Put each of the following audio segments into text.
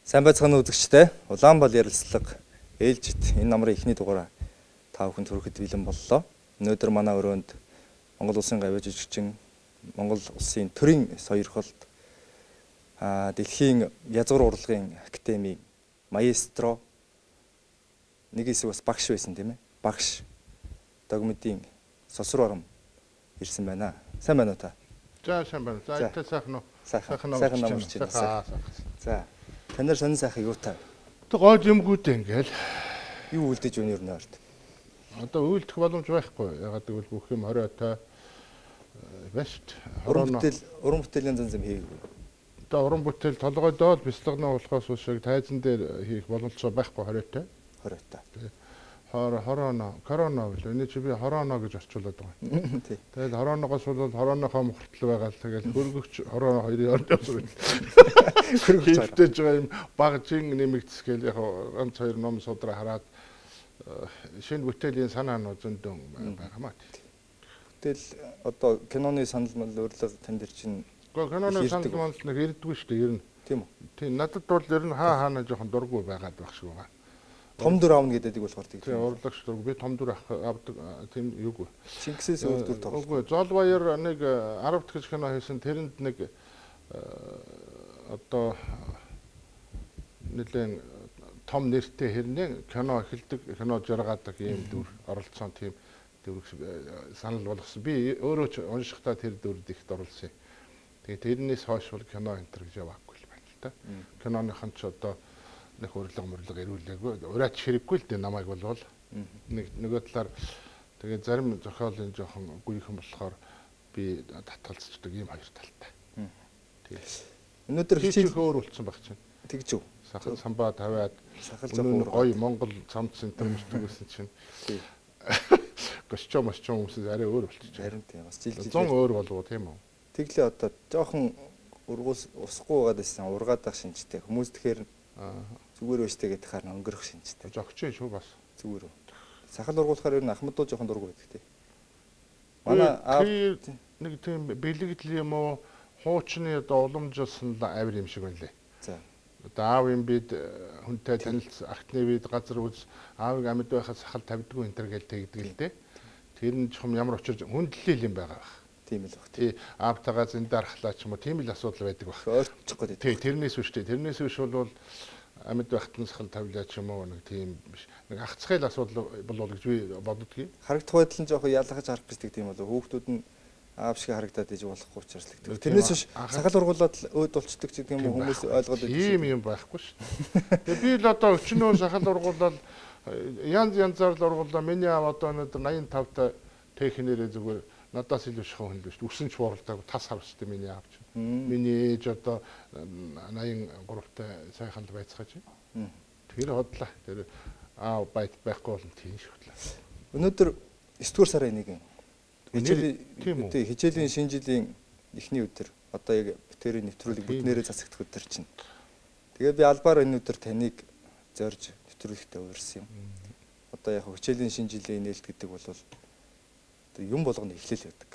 Сайн байцгаана үзэгчдээ. Улаанбал ярилцлага ээлжид энэ намрын эхний дугаараа та бүхэнд хүрэхэд бэлэн боллоо. Өнөөдөр манай өрөөнд Монгол Улсын гавьяа жүжигчин, Монгол Улсын төрийн соёрхолд Дэлхийн язгуур урлагийн академийн маэстро нэг хэсэг бас багш байсан тийм ээ. Багш Догмидын Сосруу Ором ирсэн байна. Сайн байна уу та? За сайн байна. За энэ сайхан уу? Сайхан намарч байна. За та нар сонин сайхан юу та? Тэг гол юмгүүд ингээл юу үлдэж өнөр нойрд. Одоо үйлдэх боломж байхгүй. Ягаад гэвэл бүх юм хориотой бэст. Уран бүтээлийн зан хийгээгүй. Одоо уран бүтээл толгойдоо бяцлагнаа болохоос шиг тайзан дээр хийх боломжтой байхгүй хориотой. Корона билүү. Энэ чи би хорооно гэж орчуулад байгаа. Тий. Тэгэл хорооноогоос бол хорооныхоо мөхөртөл байгаа л тэгэл хөргөгч хорооно хоёрын орд явсан. Хөргөгчтэй байгаа юм багжин нэмэгдэсгээл яг ганц хоёр ном судраа хараад шинэ бүтээлийн санаанууд зөндөн байгаамаа. Тэгэл одоо киноны санал урилга тань дээр чинь киноны санал нэг ирдэггүй шүү дээ ер нь. Тийм үү? Тийм надад бол ер нь хаана жоохон дурггүй байгаад байх шиг байгаа. Том дүр аавна гэдэг болохоор тийм. Тийм урлагч дург би том дүр авдаг тийм юугүй. Чингисээс өөр дүр тоглох. Үгүй Зол баяр нэг 10 дахь кино хийсэн тэрэнд нэг одоо нэлээд том нэртэй хэрнээ кино эхэлдэг кино жаргадаг юм дүр оролцсон тийм дүр санал болгосон. Би өөрөө ч уншихтаа тэр дүрд ихд оролцсон. Тэгээ тэрнээс хойш бол кино энтер гэж яваагүй л байна л та. Киноныхан ч одоо нэг урилга ирүүлээгүй. Ураач хэрэггүй л дээ намайг болвол нөгөө талаар тэгээ зарим зохиолын жоохон гүйхэн болохоор би татгалзчихдаг юм хоёр талтай. Тэгээ. Өнөөдөр хичээл өөр болцсон баг чинь. Тэгж үү. Самбаа тавиад сахал жоохон гоё Монгол цамц центр мөртгөөсөн чинь. Тий. Костюм хүмүүс арай өөр болчихсон. Харин тийм бас жил 100 өөр болов уу тийм үү? Тэглээ одоо жоохон усахгүй байгаад байсан ургаад байх шинжтэй. Хүмүүс тэгэхээр зүгээр өштэй гэдэг харна өнгөрөх шинжтэй. Зогч шүү бас. Зүгээр үү. Сахал ургуулахаар ер нь ахмадуу жоохон дургу байдаг тий. Манай аав нэг тийм бэлэгдэл юм уу хуучны одоо уламжлсан авир юм шиг байна лээ. За. Одоо аав юм бид хүнтэй танилц ахтны бид газар үз аавыг амьд байхад сахал тавьдгүй энэ төр гэж тэгдэг л дээ. Тэр нь чухам ямар очир хүндлэл юм байгаа байх. Тийм л баг. Тий аавтайгаа зэндархлаа ч юм уу тийм л асуудал байдаг баг. Ойртчих гээд. Тий тэрнээс биш тий. Тэрнээс биш бол амьд байхад нь сахал тавилаа ч юм уу нэг тийм биш. Нэг ахцгайл асуудал болов гэж би боддгийг. Харагдах байдал нь жоохон ялгаж харах гэдэг тийм болов. Хүүхдүүд нь аав шиг харагдаад иж болохгүй учраас л гэдэг. Тэрнээс биш сахал ургуулад өөд болцдог ч гэдэг юм хүмүүс ойлгоод байдаг. Ийм юм байхгүй шүү. Тэгээ би л одоо өчнөө сахал ургуулаад янзаар л ургуулаа. Миний аав одоо өнөөдөр 85 та техникээрээ зүгээр надаас илүү шахуу хүн л биш. Үсэн ч бооролтойг тас харвчтай миний аав чинь. Миний ээж одоо 83 та сайхан л байцгааж байна. Тэр хотлаа. Тэр аав байхгүй бол тийм шүтлээ. Өнөөдөр 9 дугаар сарын 1-ний хичээлийн шинэ жилийн эхний өдөр одоо яг бүтээрийн нэвтрүүлэг бүтнээрээ засагдах өдөр чинь. Тэгээ би албаар энэ өдөр таныг зорж нэвтрүүлэгтээ уурсан юм. Одоо яг хичээлийн шинэ жилийн нээлт гэдэг бол юм болгоны эхлэл байдаг.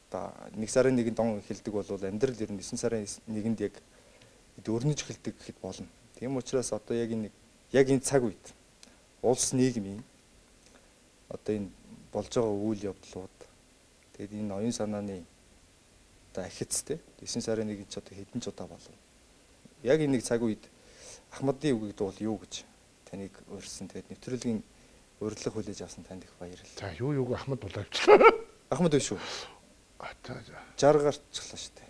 Одоо 1 сарын 1-нд он эхэлдэг бол амьдрал ер нь 9 сарын 1-нд яг өрнөж эхэлдэг гэхэд болно. Тийм учраас одоо яг энэ цаг үед улс нийгмийн одоо энэ болж байгаа үйл явдлууд тэгээд энэ оюун санааны одоо ахицтэй 9 сарын 1-нд ч одоо хэдэн ч удаа болов. Яг энэ цаг үед Ахмадын үгийг дуул юу гэж таныг урьсан. Тэгээд нэвтрүүлгийн урилга хүлээж авсан танд их баярлалаа. За юу Ахмад боловчлаа. Ахмад биш үү? 60 гарчлаа шүү дээ.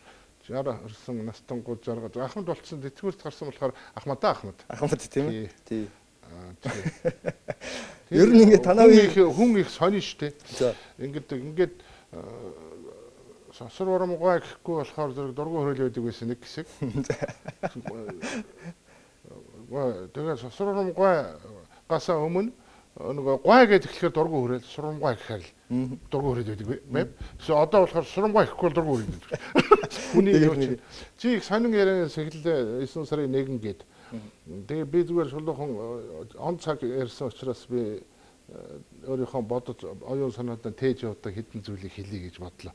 60 орсон настангууд 60 Ахмад болцсон тэтгэврт гарсан болохоор Ахмад тийм ээ. Тий. Ер нь ингээд танаа хүн их сонин штэ. За. Ингээд Сосруу Ором гой гэхгүй болохоор зэрэг дургуй хөрөөл байдаг байсан нэг хэсэг. Тэгээ Сосруу Ором гой гасаа өмнө нөгөө гой гэж эхлэхээр дургуй хөрөөл сурамгой гэхээр л дургуй хөрөөд байдаг байв. So одоо болохоор сурамгой гэхгүй дургуй хөрөөд байдаг. Хүний юу чи их сонин ярианаас эхэллээ 9 сарын 1 гээд. Тэгээ би зүгээр шулуухан он цаг ярьсан учраас би өөрийнхөө бодож оюун санаадаа тээж явдаг хэдэн зүйлийг хэлье гэж бодлоо.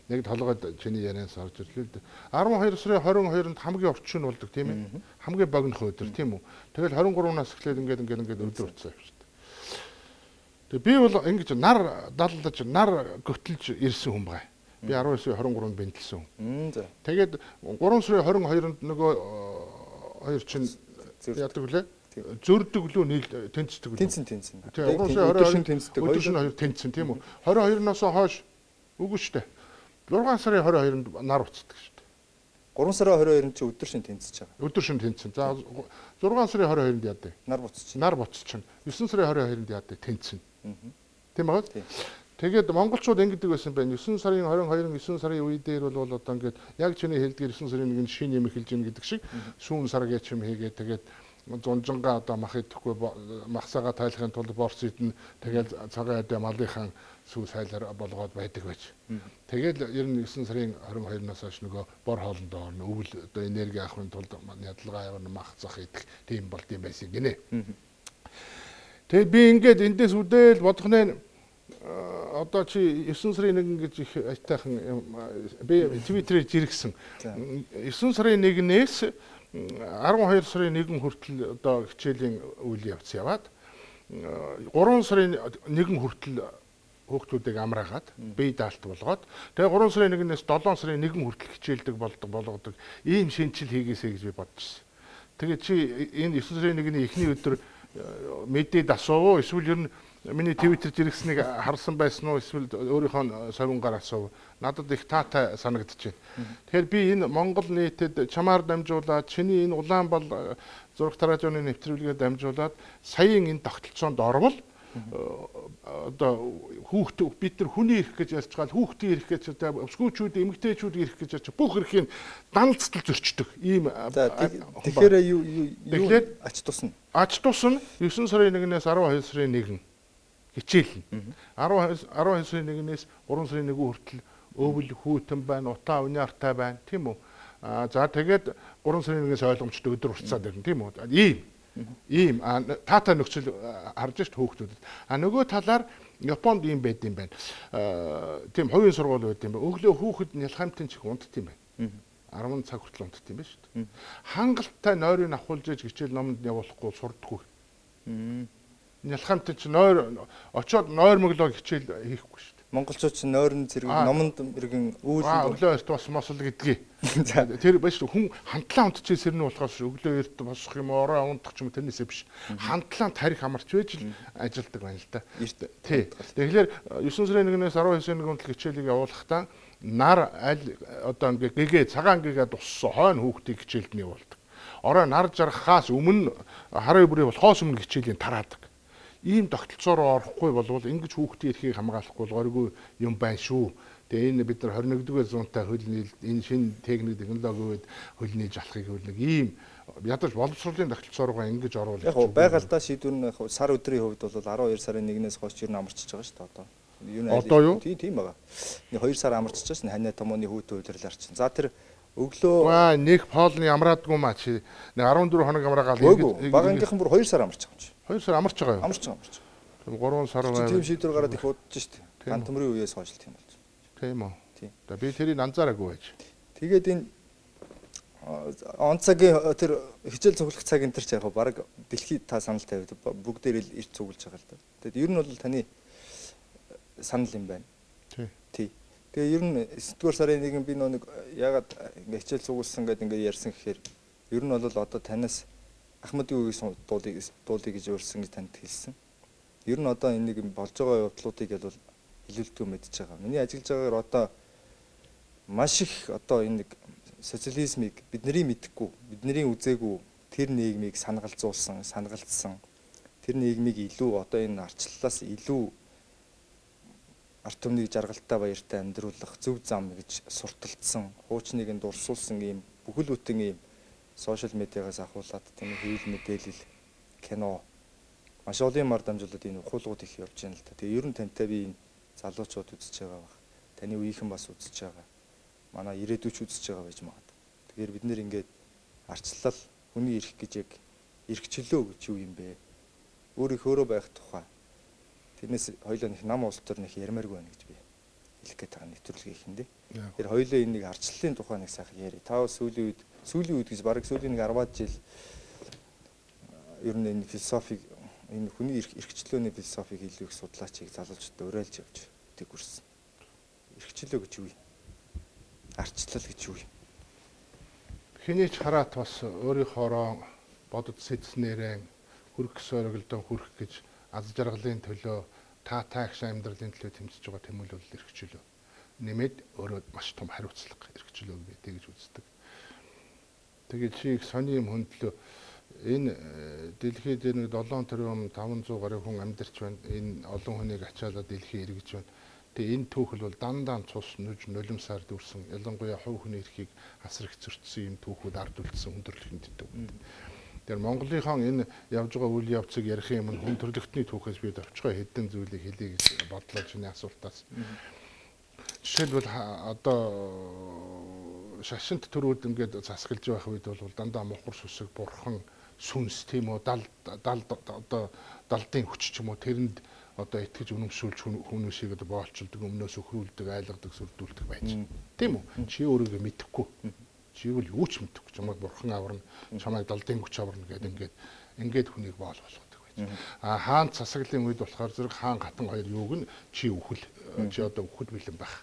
нэг толгойд чиний ярианаас орж ирлээ л дээ. 12 сарын 22-нд хамгийн орчин болдог тийм ээ. Хамгийн богино өдөр тийм үү. Тэгэл 23-наас эхлээд ингээд өдөр уцаа явчихдаг. Тэгээ би бол ингэж нар даллаж нар göтэлж ирсэн хүн бай. Би 19 сарын 23-нд бэнтэлсэн хүн. За. Тэгээд 3 сарын 22-нд нөгөө хоёр чинь яадаг вүлээ? Зөрдөг лөө нийл тэнцдэг лөө. Тэнцэн. Тэгээ 3 сарын 22-нд тэнцдэг. 2 шин 2 тэнцсэн тийм үү? 22-наас хойш үгүй шүү дээ. 6 сарын 22-нд нар уцдаг шүү дээ. 3 сарын 22-нд чи өдөр шин тэнцэж байгаа. Өдөр шин тэнцсэн. За 6 сарын 22-нд яадаг? Нар буцчих. Нар буцчихна. 9 сарын 22-нд яадаг? Тэнцсэн. Тийм байгаа. Тэгээд монголчууд ингэдэг байсан байна. 9 сарын 22-нд 9 сарын үе дээр бол одоо ингээд яг чиний хэлдгээр 9 сарын 1-нд шин юм эхэлж ийн гэдэг шиг сүүн сар гэж юм хийгээд тэгээд зунжангаа одоо мах идэхгүй махсаага тайлахын тулд борс идэн тэгээд цагаан адаа малынхан сүү сайлаар болгоод байдаг байж. Тэгээд 9 сарын 22-наас хойш нөгөө бор хоолндоо орно өвөл одоо энерги авахын тулд ядалгаа явна мах зах идэх тийм болд юм байсан гинэ. Тэгээд би ингээд эндээс үдээл бодохнаа одоо чи 9 сарын 1 гэж их айтайхан би Твиттерээр жиргсэн. 9 сарын 1-ээс 12 сарын 1 хүртэл одоо хичээлийн үйл явц яваад 3 сарын 1 хүртэл хүүхдүүдийг амраагаад бие даалт болгоод тэгээ 3 сарын 1-ээс 7 сарын 1 хүртэл хичээлдэг болгодог ийм шинжил хийгээсэй гэж би бодчихсон. Тэгээ чи энэ 9 сарын 1-ний эхний өдөр мэдээд асуув эсвэл ер нь миний Твиттер жиргсэнийг харсан байсан уу эсвэл өөрийнхөө совингаар асуув. Надад их таатай санагдчихэв. Тэгэхээр би энэ Монгол нийтэд чамаар дамжуулаад чиний энэ Улаанбал зураг тараажны нэвтрүүлгээ дамжуулаад саяын энэ тогтолцоонд орвол одоо хүүхд бид нар хүний эрх гэж ярьж байгаа хүүхдийн эрх гэж өсгөөчүүд эмэгтэйчүүд эрх гэж ярьж бүх эрхийг даналцтал зөрчдөг ийм тэгэхээр юу ач тусна 9 сарын 1-ээс 12 сарын 1 хичээлнэ 12 сарын 1-ээс 3 сарын 1 хүртэл өвөл хүүтэн байна утаа униартай байна тийм үү за тэгээд 3 сарын 1-ээс ойлгомжтой өдөр уртцаад ирнэ тийм үү ийм таатай нөхцөл харж шít хүүхдүүдэд. Нөгөө талаар Японд ийм байд юм байна. Тийм хувийн сургууль байд юм байна. Өглөө хүүхэд нялхамтын чих унтд юм байна. 10 цаг хүртэл унтд юм байна шүү дээ. Хангалттай нойрыг авахулж иж хичээл номонд явуулахгүй сурдаггүй. Нялхамтын чих нойр очоод нойр мөглөө хичээл хийхгүй шүү дээ. Монголчууд ч нойрон зэрэг номонд иргэн өглөө эрт бас мосол гэдгийг. Тэр биш хүн хандлаа унтчихээс ирнэ болохоос өглөө эрт босох юм орой унтах ч юм тэрнээсээ биш. Хандлаанд тарих амарч байж л ажилдаг байна л да. Тий. Тэгэхээр 9 сарын 1-ээс 12 сарын 1 хүртэл хичээлийг явуулахдаа нар аль одоо ингээ гэгээ цагаан гэгээ туссан хойно хүүхдийг хичээлд нь явуулдаг. Орой нар жаргахаас өмнө хараа бүрий болохоос өмнө хичээлийн тараадаг. Ийм тогтолцоо руу орохгүй болвол ингэж хүүхдийн эрхийг хамгаалахгүй горгүй юм байна шүү. Тэгээ энэ бид нар 21-р зуунтай хөл нийлж энэ шинэ техник технологи үед хөл нийлж алахыг хөл нэг ийм ядаж боловсролын тогтолцоо руугаа ингэж оруулах. Яг байгальтаа шийдвэр нь сар өдрийн хувьд бол 12 сарын 1-ээс хойш ер нь амарчиж байгаа шүү дээ одоо. Одоо юу? Тийм байгаа. 2 сар амарчиж байсан ханаа томооны хүүтэн удирлаар чинь. За тэр өглөө нэг полны амраадгүй маа чи 14 хоног амраагаал ингэж багангийнхан бүр 2 сар амарч байгаа юм чи. 2 сар амарч байгаа юу? Амарч байгаа. Тийм 3 сар байв. Тийм шийдвэр гараад их удаж шүү дээ. Хан төмрийн үеэс хойш тийм болж. Тийм үү. За би тэрийг анзаараагүй байж. Тэгээд энэ он цагийн тэр хичээл цуглах цаг энэ төр ч яг баг дэлхийд та санал тавиад бүгдээр л ирж цуглаж байгаа л да. Тэгэд ер нь бол таны санал юм байна. Тий. Тэгээ ер нь 9-р сарын 1 би нэг ягаад ингээ хичээл цугласан гэдэг ингээ ярьсан гэхээр ер нь бол одоо танаас Ахмадын үеийн дуулыг гэж өөрсөн гэж танд хэлсэн. Ер нь одоо энэ нэг болж байгаа явдлуудыг бол илүүлдэггүй мэдж байгаа. Миний ажиллаж байгаагаар одоо маш их одоо энэ нэг социализмыг бидний мэдхгүй, бидний үзээгүй тэр нийгмийг санагалзуулсан, санагалдсан. Тэр нийгмийг илүү одоо энэ арчлалаас илүү арт түмнийг жаргалтай баяртай амьдруулах зөв зам гэж сурталчсан, хуучныг нь дурсуулсан ийм бүхэл бүтэн ийм сошиал медиагаас ахуулаад тийм хэвлэл мэдээлэл, кино маш олон юмар дамжуулаад энэ ухуулгууд их явж байна л та. Тэгээ ер нь тантай би энэ залуучууд үзэж байгаа баг. Таны үеийнхэн бас үзэж байгаа. Манай ирээдүйч үзэж байгаа байж магадгүй. Тэгэхээр бид нэр ингээд арчлал, хүний эрх гэж яг эрхчлөө гэж юу юм бэ? Өөрөө байх тухай. Тэрнээс хоёулаа нэг нам улс төр нэг ярмааргүй байна гэж би хэлэх гээд байгаа нэвтрүүлгийн ихэндээ. Тэр хоёулаа энийг арчлалын тухай нэг сайхан яри. Та сүүлийн үед гэж бараг сүүлийн нэг 10-аад жил ер нь энэ философиг энэ хүний эрхчлөөний философиг илүү их судлаачийг залуучуудад уриалж явж тэгвэрсэн. Эрхчлөө гэж юу юм? Арчлал гэж юу юм? Хэний ч хараат бас өөрийнхоороо бодод сэдснээрээ хүрх сорогдон хүрх гэж аз жаргалын төлөө таахш амьдралын төлөө тэмцэж байгаа тэмүүлэл эрхчлөө. Нэмээд өөрөө маш том хариуцлага эрхчлөө гэдэг гэж үздэг. Тэгээд чи их сони юм хөндлөө энэ дэлхийд нэг 7 тэрбум 500 гаруй хүн амьдарч байна. Энэ олон хүнийг ачаалаад дэлхий эргэж байна. Тэгээ энэ түүхэл бол дандаа цус нүж нулимсаар дүрсэн ялангуяа хувь хүний эрхийг асар их зөрчсөн юм түүхүүд ард үлдсэн хүндрэлхэнд дэв. Тэр Монголынхон энэ явж байгаа үйл явцыг ярих юм хүндрэлтний түүхээс би давчгаа хэдэн зүйлийг хэлье гэж бодлоо чиний асуултаас. Жишээлбэл одоо шашинт төрүүд ингээд засгалж байх үед бол дандаа мохор сүсэг бурхан сүнс тийм үү далдын хүч ч юм уу тэрэнд одоо итгэж үнэмшүүлж хүмүүсийг одоо боолчилдог өмнөөс өхрүүлдэг айлгадаг сүрдүүлдэг байж. Тийм үү? Чи өөрийгөө мэдэхгүй. Чи бол юу ч мэдэхгүй. Чамайг бурхан аварна, чамайг далдын хүч аварна гэдэг ингээд хүнийг боол болгодог байж. Хаан засаглалын үед болохоор зэрэг хаан гатан хоёр юуг нь чи үхэл чи одоо үхэл бэлэн байх.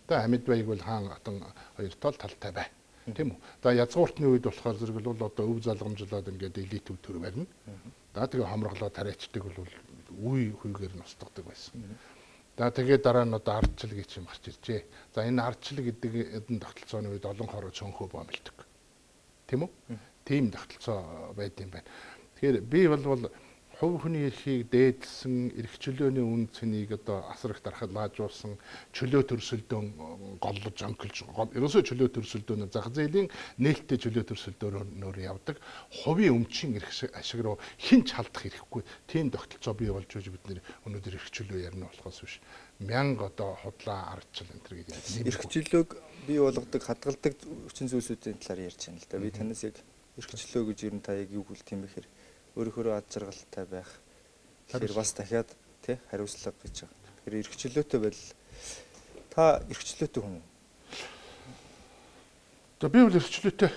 Тэгээ амьд байг бол хаан гатан хоёр талтай бай. Тийм үү? За язгууртны үед болохоор зэрэг бол одоо өв залгамжлаад ингээд элит төр барина. За тэгээ хомроглоо тариачдаг бол үе хүйгээр ностгодог байсан. За тэгээд дараа нь одоо ардчил гэж юм гарч иржээ. За энэ ардчил гэдэг эдэн тогтолцооны үед олон хороо цонхөө боомлдог. Тийм үү? Тийм тогтолцоо байд юм байна. Тэгэхээр би бол хувь хүний эрхийг дээдлсэн эрхчлөөний үн цэнийг одоо асар их дархлаажуулсан чөлөө төрсөлдөөн голлож онколж ерөөсөө чөлөө төрсөлдөөнө зах зээлийн нээлттэй чөлөө төрсөлдөөнөөр явдаг хувийн өмчийн эрх ашиг руу хинч халдах хэрэггүй тийм тогтолцоо бий болж байгаа бид нэр өнөөдөр эрхчлөө ярина болохоос биш 1000 одоо худлаа ардчил энэ төр гэдэг эрхчлөөг бий болгодог хадгалдаг хүчин зүйлсүүдийн талаар ярьж байна л да. Би танаас яг эрхчлөө гэж ер нь та яг юу хэлт юм бэ гэхээр өөрөөр аз жаргалтай байх. Тэгэхээр бас дахиад тий хариуцлага гэж байгаа. Тэгэхээр эрхчлөөтэй байл та эрхчлөөтэй хүн үү? За би бол эрхчлөөтэй.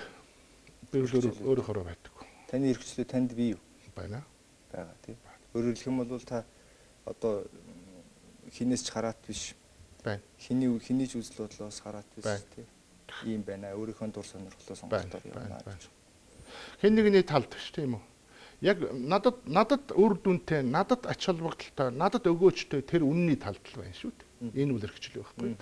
Би бол өөрөөр байдаг. Таны эрхчлөө танд бий юу? Байна. Бага тий. Өөрөөр хэлэх юм бол та одоо хинээс ч хараат биш. Байна. Хиний ч үзэл бодлоос хараат биш тий. Ийм байна. Өөрийнхөө дур сонирхлоо сонгохдоор явна гэж. Хэн нэгний талд биш тийм үү? Яг надад үр дүнтэй, надад ач холбогдолтой, надад өгөөжтэй тэр үнний талд л байна шүү дээ. Энэ бол эрхчлөө байхгүй.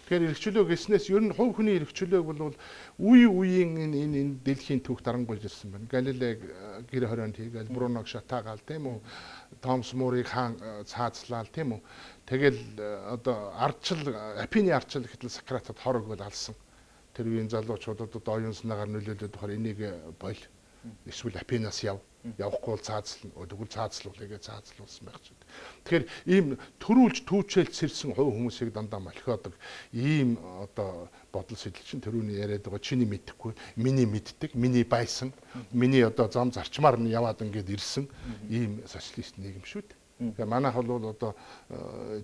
Тэгэхээр эрхчлөө гэснээс ер нь хувь хүний эрхчлөөг бол үеийн энэ дэлхийн түүх дарангуйж ирсэн байна. Галилей гэр хорионд хийгээл Бруног шатаагаал тийм үү? Томс Мурыг хаан цаазлал тийм үү? Тэгэл одоо ардчил, Апины ардчил гэтэл Сократад хорог бол алсан. Тэр үеийн залуучуудад одоо оюун санаагаар нөлөөлөд болохоор энийг бойл. Эсвэл Апинаас явахгүй бол цаазлна. Тэгвэл цаазлуулъя гэж цаазлуулсан байх ч. Тэгэхээр ийм төрүүлж түүчээлж сэрсэн хувь хүмүүсийг дандаа молхиодог ийм одоо бодол сэтэл чинь төрүүний яриад байгаа чиний мэдэхгүй, миний мэддэг, миний байсан, миний одоо зам зарчмаар нь яваад ингээд ирсэн ийм социалист нийгэм шүү дээ. Тэгээ манайх бол одоо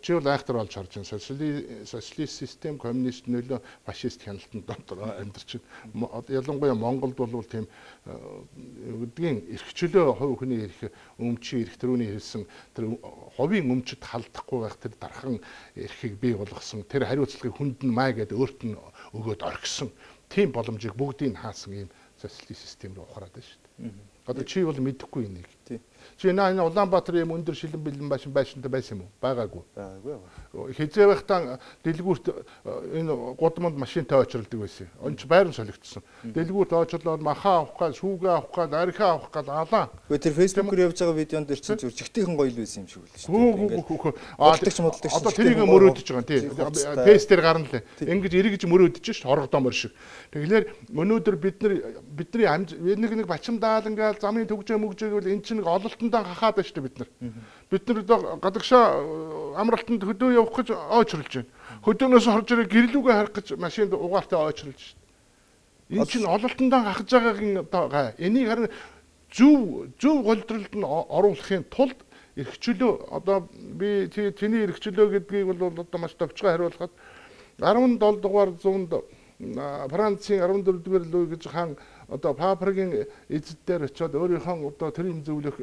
чи бол айхтар болж харж байна. Социалист систем, коммунист нөлөө, фашист хяналтанд дотор амьдарч байна. Ялангуяа Монголд бол тийм гэдгийн эрхчлөө хувь хүний эрх өмчийн эрх төрөний хэлсэн тэр хувийн өмчөд халдахгүй байх тэр дархан эрхийг бий болгосон. Тэр хариуцлагыг хүнд нь маа гэдээ өөрт нь өгөөд орхисон. Тийм боломжийг бүгдийг хаасан ийм социалист систем рүү ухраад байна шүү дээ. Одоо чи бол мэдэхгүй энийг. Чи энэ Улаанбаатар юм өндөр шилэн бэлэн байшинтай байсан юм уу? Байгаагүй. Байгаагүй. Хизээ байхдаа дэлгүүрт энэ гудамд машинтай очролдог байсан. Онч байран солигдсон. Дэлгүүрт очрлоод махаа авах гал, шүүгээ авах гал, архиа авах гал алаа. Гэхдээ тэр фэйсбүүкээр явж байгаа видеонд дэр чинь зүрчгтийнхэн гоё л байсан юм шиг үлээ шүү дээ. Одоо тэрийг мөрөөдөж байгаа тий. Фэйс дээр гарна лээ. Ингэж эргэж мөрөөдөж ш хоргодомор шиг. Тэгэхээр өнөөдөр бидний нэг бачимдаал ингээл замын төгжөө мөгжөөгөл эн чинь ололтондоо хахаад байна шүү дээ бид нар. Бид нар одоо гадагшаа амралтанд хөдөө явах гэж ойчрлж байна. Хөдөөнөөс хорж ирээ гэрлүүгээ харах гэж машинд угаартай ойчрлж шүү дээ. Энэ чинь ололтондоо хахаж байгаагийн одоо гай. Энийг харин зөв голдролд нь оруулахын тулд эрхчлөө одоо би тэний эрхчлөө гэдгийг бол одоо маш товчгой хариулахад 17 дугаар зуунд Францын 14 дугаар Луи гэж хаан одоо Папрагийн эзэд дээр очиод өөрийнхөө одоо тэрийн зөвлөх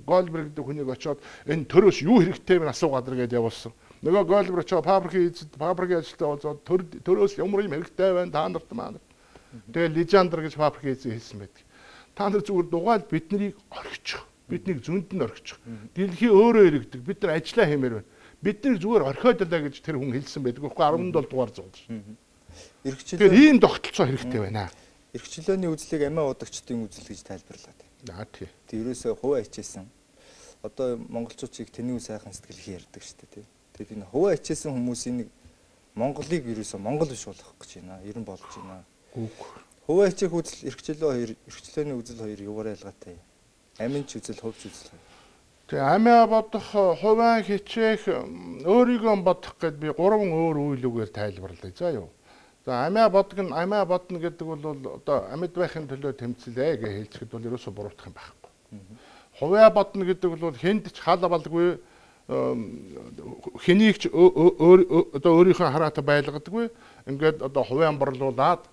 Голберг гэдэг хүнийг очиод энэ төрөөс юу хэрэгтэй вэ асуугаад иргээд явуулсан. Нөгөө Голберг очиод Папрагийн эзэд Папрагийн ажилтаа уулзаад төрөөс ямар юм хэрэгтэй байна та нарт маань. Тэгээ Лежандр гэж Папрагийн эзэн хэлсэн байдаг. Та нар зүгээр дугаал биднийг орхичих. Биднийг зөнд нь орхичих. Дэлхий өөрөө иргэдэг. Бид нар ажиллаа хэмээр байна. Бидний зүгээр орхиодлаа гэж тэр хүн хэлсэн байдаг. Тэгэхгүй 17 дугаар зуунд. Тэгэхээр ийм тогтолцоо хэрэгтэй байна. Эрх чөлөөний үзлийг амиа удагчдын үзэл гэж тайлбарлаад байна. Тий. Тэг ерөөсөө хуваа хичээсэн. Одоо монголчуудыг тэнэг сайхан сэтгэл ярьдаг шүү дээ. Тэгээд энэ хуваа хичээсэн хүмүүсийн нэг Монголыг ерөөсөө Монгол биш болгох гэж байна. Ер нь болж байна. Хуваа хичээх үзэл эрх чөлөөний үзэл хоёр юугаар ялгаатай? Амин ч үзэл, хувьч үзэл. Тэгээ амиа бодох, хуваа хичээх, өөрийгөө бодох гэд би 3 өөр үйлүүгээр тайлбарлая. За юу. За амиа бодно гэдэг бол одоо амьд байхын төлөө тэмцэлээ гэж хэлцэхэд бол ерөөсөө буруутах юм байхгүй. Хуваа бодно гэдэг бол хэнд ч хал балгүй хэнийг ч одоо өөрийнхөө хараатай байлгадаггүй. Ингээд одоо хуваа борлуулад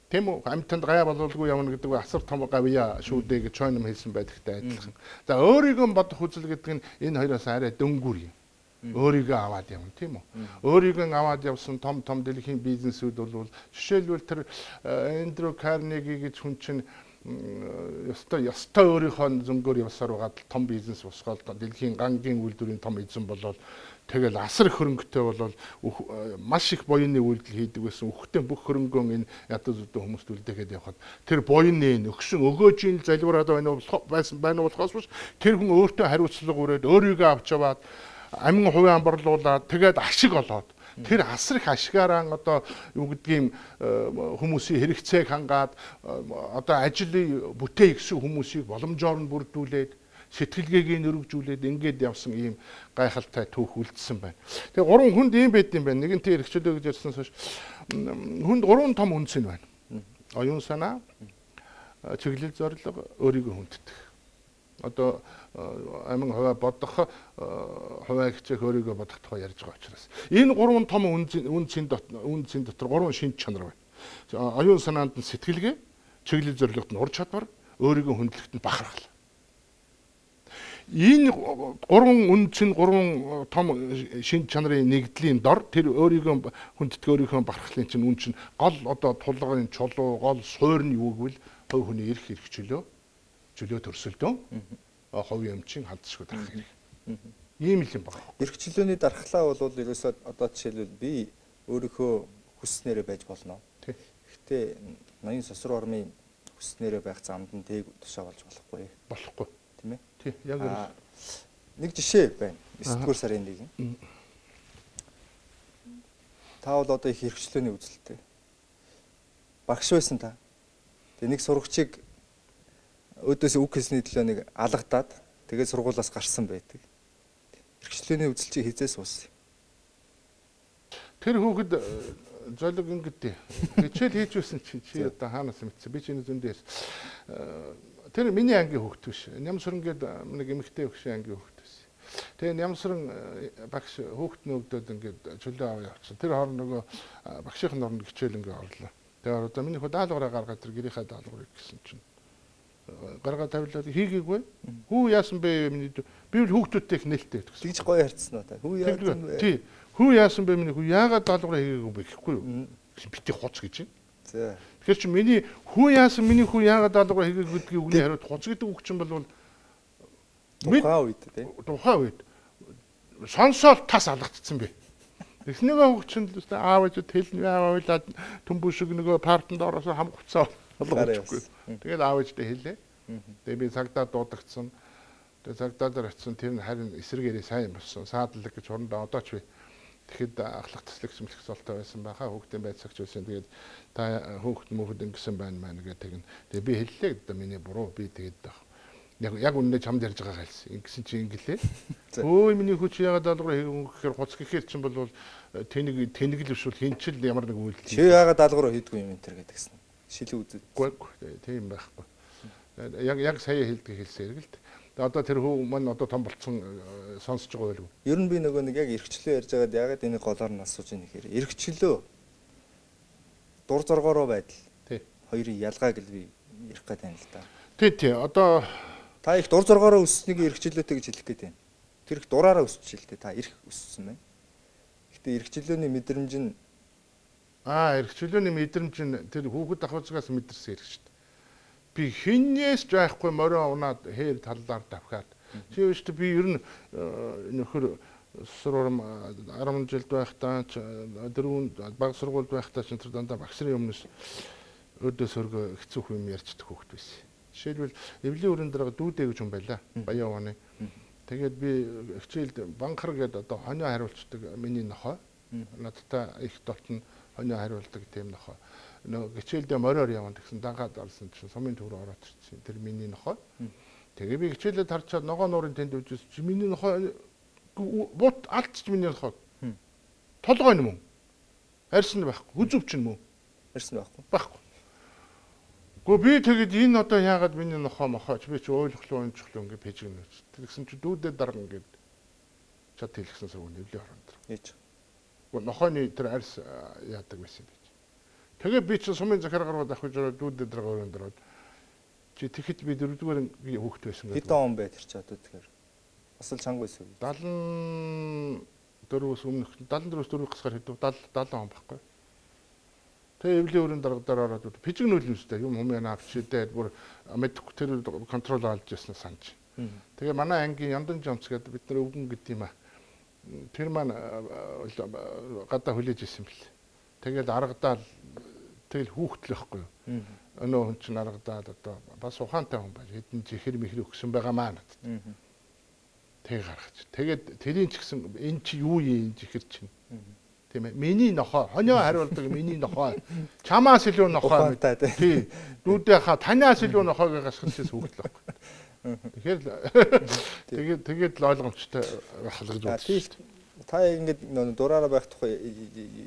тийм үү амьтанд гай болуулгүй явна гэдэг нь асар том гавья шүү дээ гэж чойном хэлсэн байдагтай адилхан. За өөрийгөө бодох үзэл гэдэг нь энэ хоёроос арай дөнгүр юм. Өөрийгөө аваад явна тийм үү. Өөрийгөө аваад явсан том дэлхийн бизнесүүд бол жишээлбэл тэр Эндрю Карнеги гэж хүн чинь ёстой өөрийнхөө зөнгөөр явсаар байгаа том бизнес усгаад дэлхийн гангийн үйлдвэрийн том эзэн болоод тэгэл асар их хөрөнгөтэй болол маш их буйны үйлдэл хийдэг байсан. Үхтэн бүх хөрөнгөө энэ ядуу зүдэн хүмүүст үлдээгээд явхад тэр буйны өгсөн өгөөжийн залбираад байна болохоос биш тэр хүн өөртөө хариуцлага өрөөд өөрийгөө авч яваад амин хувийн борлуулаад тэгээд ашиг олоод тэр асар их ашигаараа одоо юу гэдгийг хүмүүсийн хэрэгцээг хангаад одоо ажлын бүтээй гэсэн хүмүүсийг боломжоор нь бүрдүүлээд сэтгэлгээг нь өргөжүүлээд ингээд явсан ийм гайхалтай түүх үлдсэн байна. Тэгээ 3 хүнд ийм байд юм байна. Нэгэнтээ эрхчлөө гэж ярьсан сош хүнд 3 том үнц нь байна. Оюун санаа, чиглэл зорилго, өөрийгөө хүнддэг. Одоо амин хуваа бодох, хуваа хичээх өөрийгөө бодох тухай ярьж байгаа учраас. Энэ 3 том үнцийн дотор 3 шинж чанар байна. Оюун санаанд нь сэтгэлгээ, чиглэл зорилгод нь ур чадвар, өөрийгөө хүндлэхэд нь бахархал. Энэ 3 үнцийн 3 том шинж чанарын нэгдлийн дор тэр өөрийгөө хүнддэг өөрийнхөө бахархлын чинь үн чинь гол одоо тулгын чулуу, гол суурь нь юу гэвэл хувь хүний эрх чөлөө төрсөлдөө хувийн өмчийн халдшгүй дарах хэрэг. Ийм л юм байна. Эрх чөлөөний дархлаа бол ерөөсөө одоо жишээлбэл би өөрийнхөө хүсснээрээ байж болно. Гэхдээ ноён сосруу ормын хүсснээрээ байх замд нь тэг тушаа болж болохгүй. Болохгүй. Тийм ээ? Тий, яг нэг жишээ байна. 9-р сарын 1. Та бол одоо их эрх чөлөөний үзэлтэй. Багш байсан та. Тэгээ нэг сурагчийг өөдөөс үг хэлсний төлөө нэг алгадаад тэгээд сургуулаас гарсан байдаг. Эрх чөлөөний үзэл чи хизээс ууссан. Тэр хүүхэд золиг ингэдэй. Хичээл хийж байсан чи одоо хаанаас мэдсэн. Би чиний зөндөөс тэр миний ангийн хүүхэд биш. Нямсран гэдэг нэг эмэгтэй хөшөө ангийн хүүхэд байсан. Тэгээ Нямсран багш хүүхэд нөгдөөд ингээд чөлөө аваа явчихсан. Тэр хооронд нөгөө багшийн оронд хичээл ингээд орлоо. Тэгээ одоо миний хөө даалгавраа гаргаад тэр гэрийнхаа даалгаврыг гэсэн чинь гаргаад тавилаад хийгээгүй. Хүү яасан бэ миний би л хүүхдүүдтэй их нээлттэй гэдэг. Тэгж гоё ярьцсан уу та? Хүү яасан бэ? Тий. Хүү яасан бэ миний хүү яагаад даалгавраа хийгээгүй бэ гэхгүй юу? Бити хуц гэж юм. За. Тэгэхээр чи миний хүү яасан миний хүү яагаад даалгавраа хийгээгүй гэдгийг үгний хариуд хуц гэдэг үг чинь бол тухайн үед тий. Тухайн үед сонсоод тас алгацсан бэ. Эхнийгээ хөгчөнд л аав ээж хэлнэ аавуулаад төмбөшөг нөгөө партанд ороосоо хам хуцаа болгочихгүй. Тэгээд аав ээжтэй хэлээ. Тэгээд би цагдаа дуудагдсан. Тэгээд цагдаа дээр очисон тэр нь харин эсрэгээрээ сайн болсон. Саадлаг гэж хурандаа одоо ч би тэгэхэд ахлах төслөх сэмлэх золтой байсан байхаа хүүхдийн байцаагч байсан. Тэгээд та хүүхд мөхөд ингэсэн байна маа нэгэ тэгнэ. Тэгээд би хэллээ гэдэг миний буруу би тэгээд яг үнэ чамд ярьж байгаа хэлсэн. Ингэсэн чи ингэлээ. Өө миний хүч яагаад даалгавар хийхээр хуц гэхээр чинь бол тэнэг л бишүүл хинчил ямар нэг үйлдэл. Чи яагаад даалгавар хийдгүй юм энэ төр гэдгсэн. Шилэн үзээд. Тийм байхгүй. Яг сая хэлдэг хэлсэн хэрэг л. Одоо тэр хүү маань одоо том болцсон сонсож байгаа байлгүй. Ер нь би нөгөө нэг яг эрхчлөө ярьж байгаад ягаад энийг голоор нь асууж ийм гэхээр эрхчлөө дур зоргоороо байдал. Тий. Хоёрын ялгааг л би ярих гээд байна л да. Тий. Одоо та их дур зоргоороо өсснийг эрхчлөөтэй гэж хэлэх гээд байна. Тэр их дураараа өсч л дээ. Та эрх өссөн байна. Гэхдээ эрхчлөөний мэдрэмж нь эрхчлөөний мэдрэмж нь тэр хүүхэд ахуйцгаас мэдэрсэн эрх шүү дээ. Би хинээс ч байхгүй морио унаад хээр таллаар давхаад. Чи юу ч би ер нь нөхөр сурам 10 жилд байхдаа дөрөв баг сургуульд байхдаа ч тэр дандаа багшрын өмнөөс өдөөс өргө хэцүү юм ярьцдаг хүүхэд байсан. Жишээлбэл эвлийн өрөн дээр дүүдээ гэж юм байла. Баян оны. Тэгээд би хичээлд банхар гэдэг одоо хонио хариулцдаг миний нохой. Надтай их толтон хонио хариулдаг тийм нохой. Нөгөө хичээлдээ мориор явна гэсэн дангаад орсон чинь сумын төв рүү ороод ирсэн. Тэр миний нохой. Тэгээ би хичээлээ тарчаад ногоо нуурын тэнд үжиж чи миний нохой бут алдчих миний нохой. Толгой юм уу? Арьсан байхгүй. Хүзүүч юм уу? ярьсан байхгүй. Байхгүй. Гэхдээ би тэгэд энэ одоо яагаад миний нохоо мохооч би чи ойлгохлоо онцглоо ингэ пэжгэнэ. Тэгсэн чи дүүдээ дарга ингээд чад хэлсэн сургууль нэвлийн хорон дээр. Ээж. Нохооны тэр арьс яадаг байсан юм. Тэгээ би чи сумын захиргаар авах гэж дүүдээ дарга өрөөнд ороод чи тэгэхэд би 4-р ангийн хүүхэд байсан гэдэг. Хэдэн он бай тэр чи одоо тэгэхээр бас л чанга байсан. 74-өөс өмнөх 74-өөс 4 гасгаар хэдв 70 он байхгүй. Тэгээ эвлийн өрөөнд дарга дээр ороод пижиг нөлөөстэй юм хүмүүс авчидээд бүр мэдхгүй тэр контрол олж ясна санаж. Тэгээ манай ангийн Яндан Жонц гэдэг бид нар өвгөн гэдэг юм аа. Тэр маань гадаа хүлээж исэн бэл. Тэгэл аргадаал тэгэл хүүхдлэхгүй юу. Өнөө хүн чинь аргадаал одоо бас ухаантай хүн байж хэдэн чихэр мэхэр өгсөн байгаа маа надад. Тэг гаргаж. Тэгээд тэрийн ч гэсэн энэ чи юу юм чихэр чинь. Тийм ээ. Миний нохоо, хонио хариулдаг миний нохоо. Чамаас илүү нохоо. Тий. Дүүдээ танаас илүү нохоог гасчихсан хүүхдлэхгүй. Тэгэхээр тэгээд л ойлгомжтой байх л гэж бодсон. Та ингэж дураараа байх тухай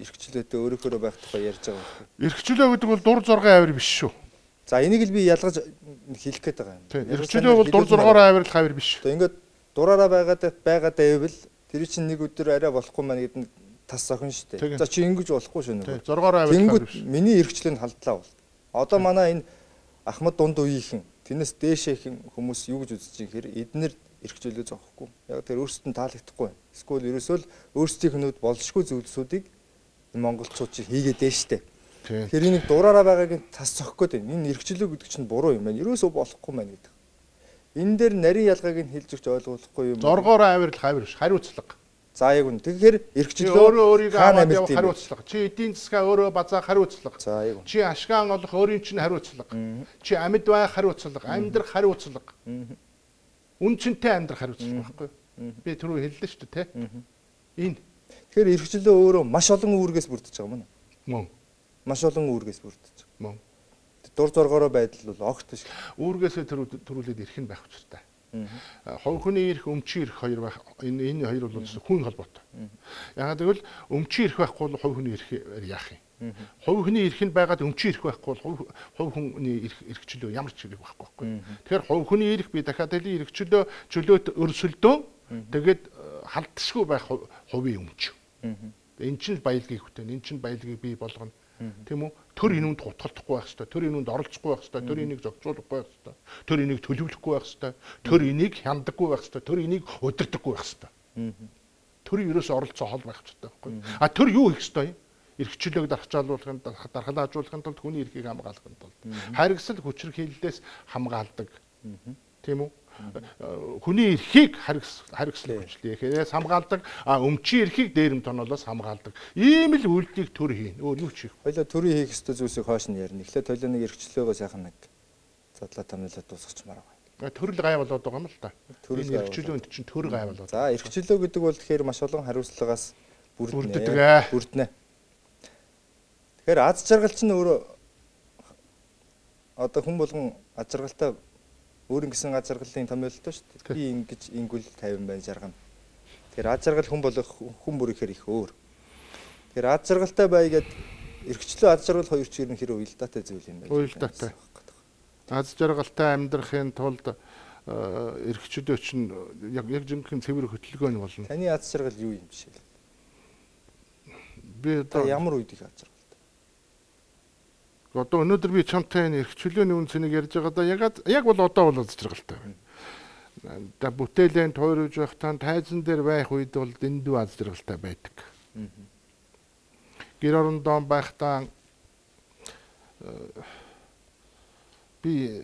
эрхчлөөтэй өөрөөхөө байх тухай ярьж байгаа юм. Эрхчлөө гэдэг бол дур зоргын авир биш шүү. За энийг л би ялгаж хэлэх гээд байгаа юм. Эрхчлөө бол дур зоргоороо авирлах авир биш. Одоо ингээд дураараа байгаад байвал тэр чинь нэг өдөр арай болохгүй маань гэдэг нь тас охин шүү дээ. За чи ингэж болохгүй шүү нэ. Зоргоороо авирлах биш. Миний эрхчлөө нь халдлаа бол. Одоо манай энэ Ахмад дунд үеийнхэн тэрнээс дээшээ их хүмүүс юу гэж үзэж байгаа хэрэг эднэр эрхчлөө зоохгүй. Яг тэр өөрсдөд нь таалагдахгүй. Эсвэл ерөөсөө л өөрсдийнх нь болшгүй зүйлсүүдийг монголчууд чинь хийгээд дээ штэ. Тэгэхээр энийг дураараа байгааг тас зохих гээд байна. Энэ эрхчлөө гэдэг чинь буруу юм байна. Ерөөсөө болохгүй маань гэдэг. Энэ дээр нарийн ялгааг нь хэлж өгч ойлгуулахгүй юм. Зоргоороо авирлах авир биш. Хариуцлага. За яг үн. Тэгэхээр эрхчлөө өөрийгөө аваад явах хариуцлага. Чи эдийн засгаа өөрөө базаах хариуцлага. За яг үн. Чи ашгаан олох өөрийн чинь хариуцлага. Чи амьд байх хариуцлага, амьдрах хариуцлага. Үнцэнтэй амьдрах хариуцлага байхгүй юу? Би түрүү хэллээ шүү дээ, тэ? Энэ. Тэгэхээр эрхчлөө өөрөө маш олон үүргээс бүрдэж байгаа юм аа. Мөн. Маш олон үүргээс бүрдэж Мөн. байгаа. Дур зоргоороо байдал бол огт биш. Үүргээсээ төрүүлээд ирэх нь байх учиртай. Хувь хүний эрх, өмчийн эрх хоёр байх. Энэ хоёр бол хүн холбоотой. Яагаад гэвэл өмчийн эрх байхгүй бол хувь хүний эрх яах юм? Хувь хүний эрх нь байгаад өмчийн эрх байхгүй бол хувь хүний эрхчлөө ямар ч эрх байхгүй. Тэгэхээр хувь хүний эрх би дахиад хэлий эрхчлөө чөлөөт өрсөлдөө тэгээд халдшгүй байх хувийн өмч. Энэ чинь баялагийг хөтөн, энэ чинь баялагийг бий болгоно. Тийм үү? Төр инүүнд гутгалдахгүй байх хэрэгтэй. Төр инүүнд оролцохгүй байх хэрэгтэй. Төр энийг зохицуулахгүй байх хэрэгтэй. Төр энийг төлөвлөхгүй байх хэрэгтэй. Төр энийг хяндаггүй байх хэрэгтэй. Төр энийг удирдахгүй байх хэрэгтэй. Төрийн ерөөс оролцоо хол байх хэрэгтэй байхгүй. А төр юу хийх ёстой юм? Эрхчлөөг дархжаалуулахын дархлаажуулахын тулд хүний эрхийг хамгаалахын тулд харгасал хүчирхийллээс хамгаалдаг. Тийм үү? Хүний эрхийг харгислах хүчлээс хамгаалдаг, өмчийн эрхийг дээрэм тоноолоос хамгаалдаг. Ийм л үйлдэлийг төр хийн. Өөр юу ч хийх. Хоёлаа төрийн хийх ёстой зүйлсийг хойш нь ярина. Эхлээд хоёлаа нэг эрхчлөөгөө сайхан нэг задлаа тамилаад дуусгачмаар байгаа. Төрөл гай болоод байгаа юм л та. Энэ эрхчлөөнд чинь төр гай болоод. За эрхчлөө гэдэг бол тэгэхээр маш олон хариуцлагаас бүрднэ. Тэгэхээр аз жаргал чинь өөрөө одоо хүн болгон аз жаргалтай өөр ингэсэн аз жаргалын томьёолтой шүү дээ. Би ингэж ингүүл 50 байна жаргана. Тэгэхээр аз жаргал хүн болох хүн бүр ихээр их өөр. Тэгэхээр аз жаргалтай байгаад эрхчлөө аз жаргал хоёр ч ерөнхийдөө уялдаатай зүйл юм байна. Уялдаатай. Аз жаргалтай амьдрахын тулд эрхчлөө чинь яг жинхэнэ цэвэр хөтөлгөө нь болно. Таны аз жаргал юу юм жишээ? Би одоо ямар үед их аз жаргалтай? Одоо өнөөдөр би чамтай энэ эрхчлөөний үн цэнийг ярьж байгаадаа яг бол одоо бол аз жаргалтай байна. Та бүтээлэн тойрож байхдаа тайзан дээр байх үед бол дэндүү аз жаргалтай байдаг. Гэр орондоо байхдаа би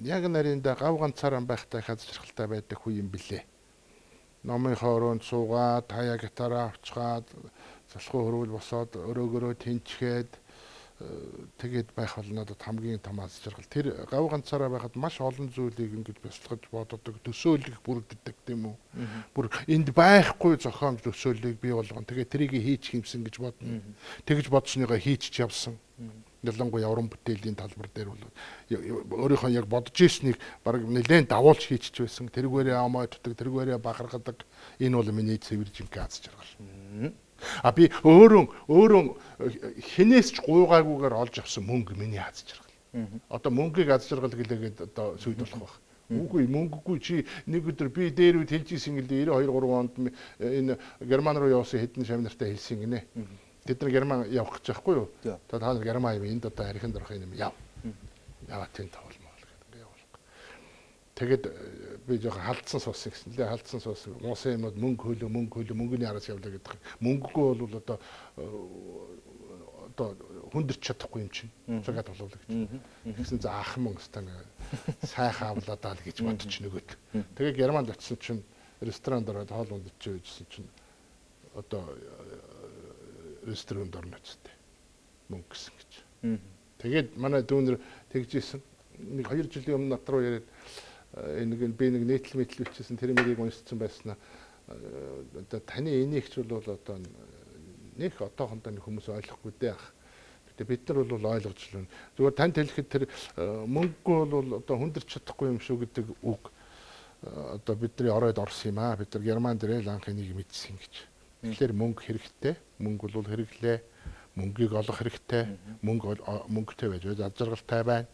яг нарийнда гав ганцаараа байхдаа аз жаргалтай байдаг үе юм билээ. Номын хооронд суугаад, хаяа гитараа авчгаад, залхуу хөрвөл босоод өрөөгөрөө тэнчгээд тэгээд байх бол надад хамгийн том аз жаргал. Тэр гав ганцаараа байхад маш олон зүйлийг ингэж бясалгаж боддог, төсөөлөх бүрддэг тийм үү. Бүр энд байхгүй зохион төсөөллийг бий болгоно. Тэгээд тэрийг хийчих юмсан гэж бодно. Тэгж бодсныгоо хийчих явсан. Ялангуяа уран бүтээлийн талбар дээр бол өөрийнхөө яг бодож ирснийг баг нэлээд давуулж хийчих байсан. Тэргээрээ амааддаг, тэргээрээ бахархадаг. Энэ бол миний цэвэр жинхэнэ аз жаргал. Би өөрөө хинээс ч гуйгаагүйгээр олж авсан мөнгө миний аз жаргал. Одоо мөнгийг аз жаргал гэлээгээд одоо сүйд болох байх. Үгүй мөнгөгүй чи нэг өдөр би дээр үед хэлж ийсэн гэлээ 92 3 онд энэ Герман руу явсан хэдэн шавнартай хэлсэн гинэ. Тэд нар Герман явах гэж байхгүй юу? Та нар Герман юм энд одоо архинд орох юм яв. Яваад тийм тавлмаа гэдэг ингээ явуулах. Тэгээд би жоохон халдсан суусан гэсэн лээ. Халдсан суусан. Муусан юмуд мөнгө мөнгөний араас явлаа гэдэг. Мөнгөгүй бол одоо хүндэрч чадахгүй юм чинь. Цагаад боловлоо гэж. Тэгсэн заах мөнгө стан сайхан авлаа л гэж бодож нөгөөд. Тэгээд Германд очисон чинь ресторанд ороод хоол ундаж байжсэн чинь одоо ресторанд орно гэжтэй. Мөнгө гэсэн гэж. Тэгээд манай дүүнэр тэгж ийсэн. Нэг 2 жилийн өмнө над руу яриад би нэг нийтлэл бичсэн тэр мэрийг уншсан байснаа одоо таны энийгч бол одоо нэг одоохондоо нэг хүмүүс ойлгохгүй дээ. Гэтэ бид нар бол ойлгож байна. Зүгээр танд хэлэхэд тэр мөнгөгүй бол одоо хүндэрч чадахгүй юм шүү гэдэг үг одоо бидний оройд орсон юм аа. Бид нар Германд ирэл анх энийг мэдсэн гэж. Тэгэхээр мөнгө хэрэгтэй. Мөнгө бол хэрэглээ. Мөнгийг олох хэрэгтэй. Мөнгөтэй байж аз жаргалтай байна.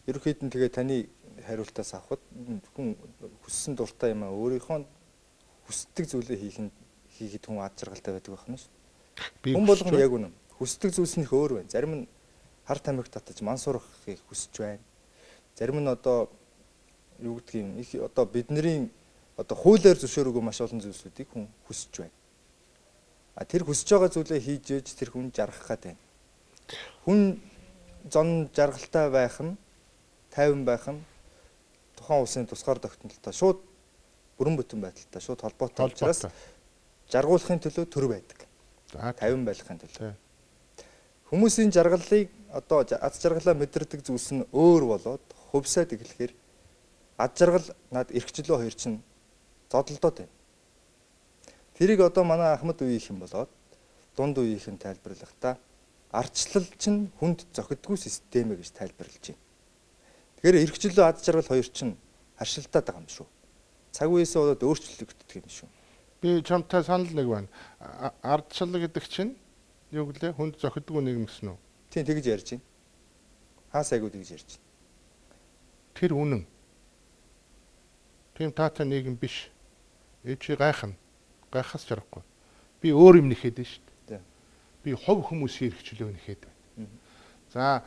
Ерөнхийдөө тэгээ таны хариултаас авахд хүн хүссэн дуртай юм аа өөрийнхөө хүсдэг зүйлээ хийхэд хүн аз жаргалтай байдаг байх нь шүү. Хүн болгоно яг үнэн. Хүсдэг зүйлс нь их өөр байна. Зарим нь хар тамхи татаж ман сурахыг хүсэж байна. Зарим нь одоо юу гэдгийг их одоо бидний одоо хуулиар зөвшөөрөөгүй маш олон зүйлсүүдийг хүн хүсэж байна. Тэр хүсэж байгаа зүйлээ хийж ээж тэр хүн жаргах гэдэг байна. Хүн зон жаргалтай байх нь, тайван байх нь тухайн улсын тусгаар тогтнолтой шууд бүрэн бүтэн байдалтай шууд холбоотой учраас жаргуулахын төлөө төр байдаг. Тайван байхын төлөө. Хүмүүсийн жаргалыг одоо аз жаргалаа мэдэрдэг зүйлс нь өөр болоод хувьсаад эхлэхээр аз жаргал над эрхчлөө хоёр чинь зодолдоод байна. Тэрийг одоо манай Ахмад үеийнх юм болоод дунд үеийнх нь тайлбарлахдаа ардчлал чинь хүнд зохидгүй систем гэж тайлбарлаж байна. Тэгэхээр эрхчлөө аз жаргал хоёр чинь харшилтаад байгаа юм шүү. Цаг үеэсээ болоод өөрчлөгддөг юм шүү. Би чамтай санал нэг байна. Ардчлал гэдэг чинь юу гэлээ хүнд зохидгүй нэгэн гэсэн үү? Тийм тэгж ярьж байна. Хаа сайгүй тэгж ярьж байна. Тэр үнэн. Тийм таатай нэгэн биш. Чи гайхаас жарахгүй. Би өөр юм нэхэд шүү дээ. Би хов хүмүүсийн эрхчлөө нэхэд байна. За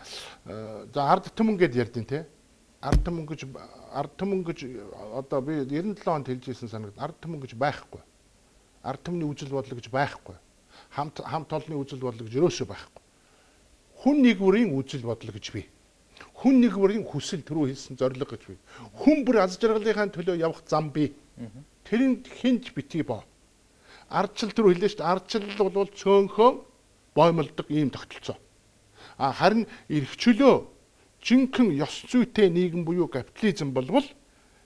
ард түмэн гэд ярьдیں۔ Те. Ард түмэн гэж одоо би 97 онд хэлж ирсэн санагд ард түмэн гэж байхгүй. Ард түмний үжил бодлого гэж байхгүй. Хамт олонны үжил бодлого гэж өрөөсөө байхгүй. Хүн нэг бүрийн үжил бодлого гэж бий. Хүн нэг бүрийн хүсэл төрөө хийсэн зорилго гэж бий. Хүн бүр аз жаргалынхаа төлөө явах зам бий. Тэрэнд хинж битгий боо. Ардчил төрөө хэлээ шүү дээ. Ардчил бол цөөнхөн боомлдог ийм тогтолцоо. Харин эрхчлөө жинхэнэ ёс зүйтэй нийгэм буюу капитализм болвол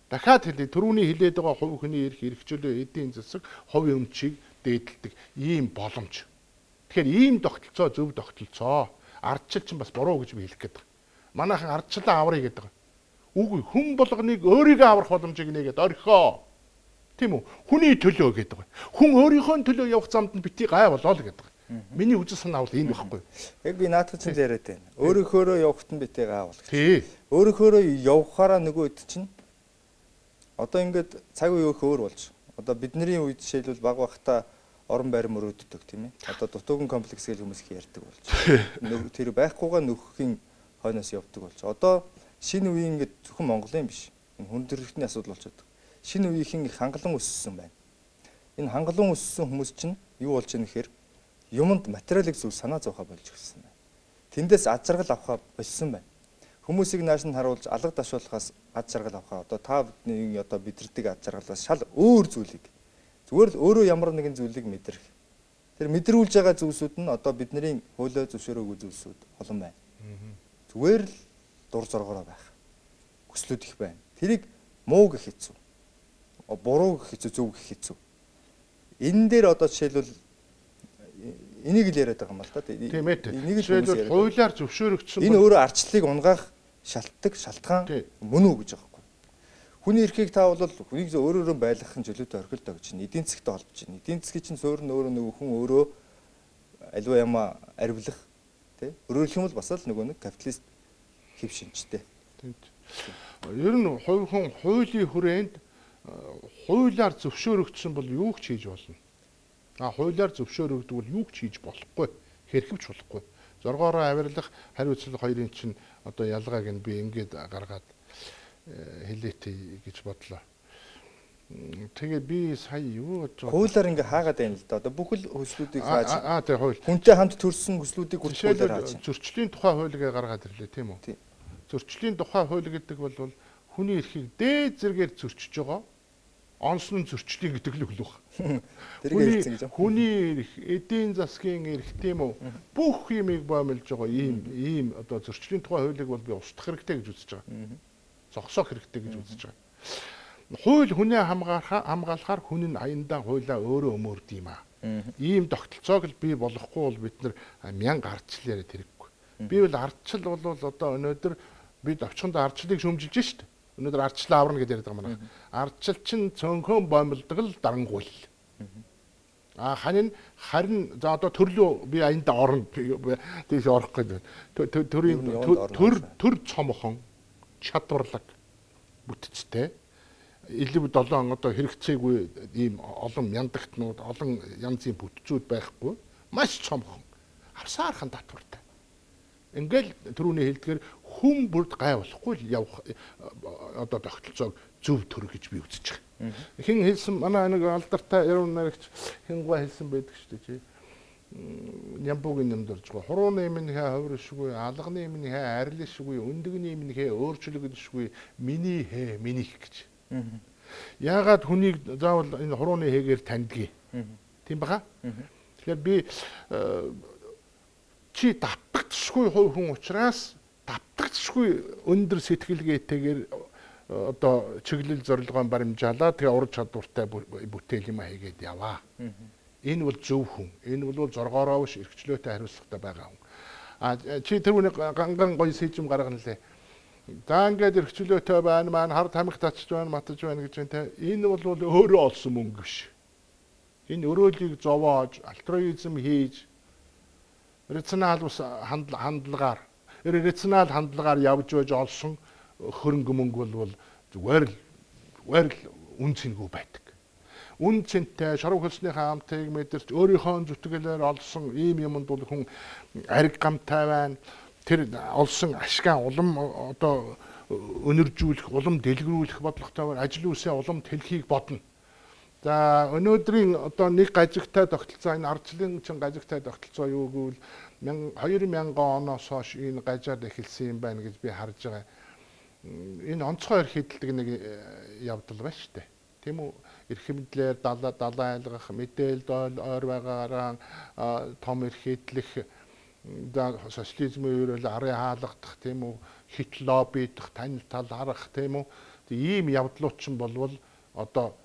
дахиад хэлээ түрүүний хэлээд байгаа хувь хүний эрх эрхчлөө эдийн засаг хувь өмчийг дээдэлдэг ийм боломж. Тэгэхээр ийм тогтолцоо зөв тогтолцоо. Ардчил чинь бас буруу гэж би хэлэх гээд байгаа. Манайхан ардчлаа аврыг гэдэг. Үгүй хүн болгоныг өөрийгөө аврах боломжийг нэгээд орхио. Тийм үү? Хүний төлөө гэдэг. Хүн өөрийнхөө төлөө явах замд нь битгий гай болоо л гэдэг. Миний үзэл санаа бол энэ байхгүй. Яг би наадах чинь яриад байна. Өөрийнхөөрөө явахт нь битээ гаавал. Тий. Өөрийнхөөрөө явахаараа нөгөө хэд чинь одоо ингээд цаг үе өөр болж. Одоо бидний үед жишээлбэл баг багта орон байр мөрөөддөг тийм ээ. Одоо дутууган комплекс гэж хүмүүс их ярьдаг болж. Тэр байхгүйгаа нөхөхийн хойноос явдаг болж. Одоо шинэ үеийн ингээд зөвхөн Монголын биш. Энэ хүн төрөлхтний асуудал болчиход. Шинэ үеийнхэн их хангалан өссөн байна. Энэ хангалан өссөн хүмүүс чинь юу болж байгаа нэхэр юмд материалыг зөв санаа зовхоо болж гисэн байна. Тэндээс ад жаргал авахаа болсон байна. Хүмүүсийг нааш нь харуулж алга дашуулахаас ад жаргал авахаа одоо та бидний одоо бидэрдэг ад жаргалаас шал өөр зүйлийг зүгээр л өөрөө ямар нэгэн зүйлийг мэдрэх. Тэр мэдрүүлж байгаа зүйлсүүд нь одоо бидний хуулиа зөвшөөрөөгүй зүйлсүүд олон байна. Зүгээр л дур зоргоороо байх. Хүслүүд их байна. Тэрийг муу гэх хэцүү. Буруу гэх хэцүү, зөв гэх хэцүү. Энэ дээр одоо жишээлбэл энийг л яриад байгаа юм л да. Тийм ээ. Жишээлбэл хуулиар зөвшөөрөгдсөн. Энэ өөрөө ардчлалыг унгаах шалтгаан мөн үү гэж байгаа юм. Хүний эрхийг та бол хүнийг өөрөөрөө байлгахын чөлөөтэй орхилдог гэж байна. Эдийн засгтай холбож байна. Эдийн засгийн чинь суурь нь өөрөө нөгөө хүн өөрөө аливаа ямаа арвилах тий. Өөрөөр хэлбэл бас л нөгөө нэг капиталист хэв шинжтэй. Ер нь хувь хүн хуулийн хүрээнд хуулиар зөвшөөрөгдсөн бол юу ч хийж болно. Хуулиар зөвшөөрөгдөг бол юу ч хийж болохгүй, хэрхэвч болохгүй. Зоргоороо авирлах, хариуцлага хоёрын чинь одоо ялгааг нь би ингээд гаргаад хэлээтэй гэж бодлоо. Тэгээ би сая юу гэж хуулиар ингээ хаагаад байна л да. Одоо бүхэл хөслүүдийг хааж. Тэгээ хууль. Хүнтэй хамт төрсэн хөслүүдийг хуулиар хааж. Зөрчлийн тухай хуулийг гаргаад ирлээ тийм үү? Зөрчлийн тухай хууль гэдэг бол хүний эрхийг дээд зэргээр зөрчиж байгаа. Онцлон зөрчлийн гэдэг л үл баг. Хүний эрх, эдийн засгийн эрх тийм үү? Бүх юмыг боомлж байгаа ийм одоо зөрчлийн тухай хуулийг бол би устгах хэрэгтэй гэж үзэж байгаа. Зогсоох хэрэгтэй гэж үзэж байгаа. Хууль хүнээ хамгаалахаар хүн нь аяндаа хуулиа өөрөө өмөрд юм аа. Ийм тогтолцоог л бий болохгүй бол бид нар 1000 ардчил яриад хэрэггүй. Би бол ардчил бол одоо өнөөдөр бид овчхонд ардчлалыг шөмжилж штт. Өнөөдөр ардчлал аварна гэж яриад байгаа манай. Ардчил чинь цөөнхөн боомлдог л дарангуйл. Харин за одоо төрлөө би аяндаа орно тийш орох гэдэг. Төр цомхон чадварлаг бүтцтэй элэв 7 одоо хэрэгцээгүй ийм олон мяндагтнууд олон янзын бүтцүүд байхгүй маш цомхон авсаархан татвартай. Ингээл түрүүний хэлдгээр хүн бүрд гай болохгүй явах одоо тогтолцоог зөв төр гэж би үзэж байгаа. Хин хэлсэн манай нэг алдартай яруу найрагч хингуа хэлсэн байдаг шүү дээ чи. Нямбугийн юмд орж байгаа. Хурууны минийхээ ховршгүй, алганы минийхээ арилшгүй, өндөгний минийхээ өөрчлөгдшгүй, миний хээ минийх гэж. Яагаад хүнийг заавал энэ хурууны хэгээр таньдгийг. Тийм баха? Тэгэхээр би чи давтагдшгүй хүн учраас давтагдшгүй өндөр сэтгэлгээтэйгээр одоо чиглэл зорилгоон баримжаалаа тэгээ ур чадвартай бүтээл юм хийгээд яваа. Энэ бол зөв хүн. Энэ бол зоргоороо биш эрхчлөөтэй хариуцлагатай байгаа хүн. Чи тэр үнийг ганган гоё сэжим гаргана лээ. За ингээд эрхчлөөтэй байна маань хар тамхи татчих байна матж байна гэж байна те. Энэ бол өөрөө олсон мөнгө биш. Энэ өрөөлийг зовоож альтруизм хийж рационал хандлагаар явж байж олсон хөрөнгө мөнгө бол зүгээр л үн цэнгүй байдаг. Үн цэнтэй шаруу хөлсийнхаа амтыг мэдэрч өөрийнхөө зүтгэлээр олсон ийм юмд бол хүн ариг гамтай байна. Тэр олсон ашгаа улам одоо өнөржүүлэх, улам дэлгэрүүлэх бодлоготой байна. Ажил үсээ улам тэлхийг бодно. За өнөөдрийн одоо нэг гажигтай тогтолцоо энэ ардчлалын чин гажигтай тогтолцоо юу гэвэл 2000 оноос хойш энэ гажаад эхэлсэн юм байна гэж би харж байгаа. Энэ онцгой эрх хэдэлдэг нэг явдал байна шүү дээ. Тийм үү? Эрх мэдлэр далайн айлгах, мэдээлэл ойр байгаараа том эрх хэдлэх, социализмын үеэр арын хаалгадах, тийм үү? Хит лоббидах, тань тал харах, тийм үү? Ийм явдлууд ч болвол одоо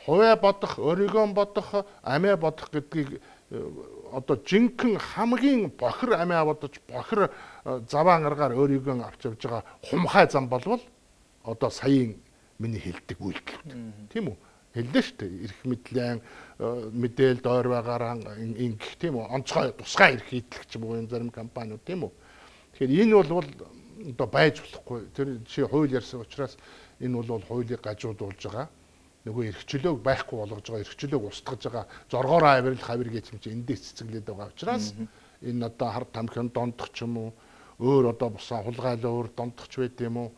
хувиа бодох, өөрийгөө бодох, амиа бодох гэдгийг одоо жинхэнэ хамгийн бохир амиа бодож, бохир заваан аргаар өөрийгөө авч явж байгаа хумхай зам болвол одоо саяын миний хэлдэг үйлдэлүүд. Тийм үү? хэллээ шүү дээ. Ирэх мэдлэн мэдээлэл ойр байгаараа ингэх тийм үү? Онцгой тусгай ирэх идэлх ч юм уу энэ зарим компаниуд тийм үү? Тэгэхээр энэ бол одоо байж болохгүй. Тэр чи хууль ярьсан учраас энэ бол хуулийг гажуудуулж байгаа. Нөгөө эрхчлөөг байхгүй болгож байгаа, эрхчлөөг устгаж байгаа. Зоргоороо авирал хавир гэж юм чи эндээс цэцэглээд байгаа учраас энэ одоо хар тамхин дондох ч юм уу өөр одоо бусаа хулгайлаа өөр дондохч байд юм уу?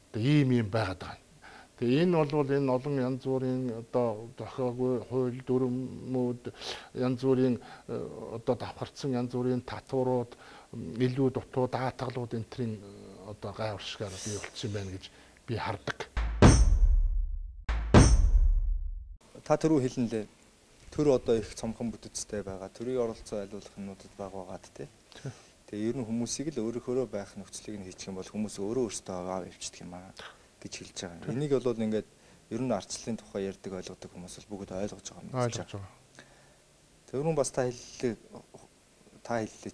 Одоо ийм байгаад байгаа. Тэгээ энэ бол энэ олон янз бүрийн одоо зохиогүй хууль дүрмүүд янз бүрийн одоо давхарцсан янз бүрийн татварууд илүү дутуу даатгалууд энтрийн одоо гай уршгаар бий болчихсон байна гэж би хардаг. Та түрүү хэлнэлээ. Төр одоо их цомхон бүтэцтэй байгаа. Төрийн оролцоо айлуулах юмнуудад бага байгаад тий. Тэгээ ер нь хүмүүсийг л өөрөөхөө байх нөхцөлийг нь хийчих юм бол хүмүүс өөрөөсөө аваа явчихдаг юм аа гэж хэлж байгаа. Энийг бол ингээд ер нь ардчлалын тухай ярьдаг ойлгодог хүмүүс бол бүгд ойлгож байгаа юм гэж байна. Тэрүүн бас та хэллээ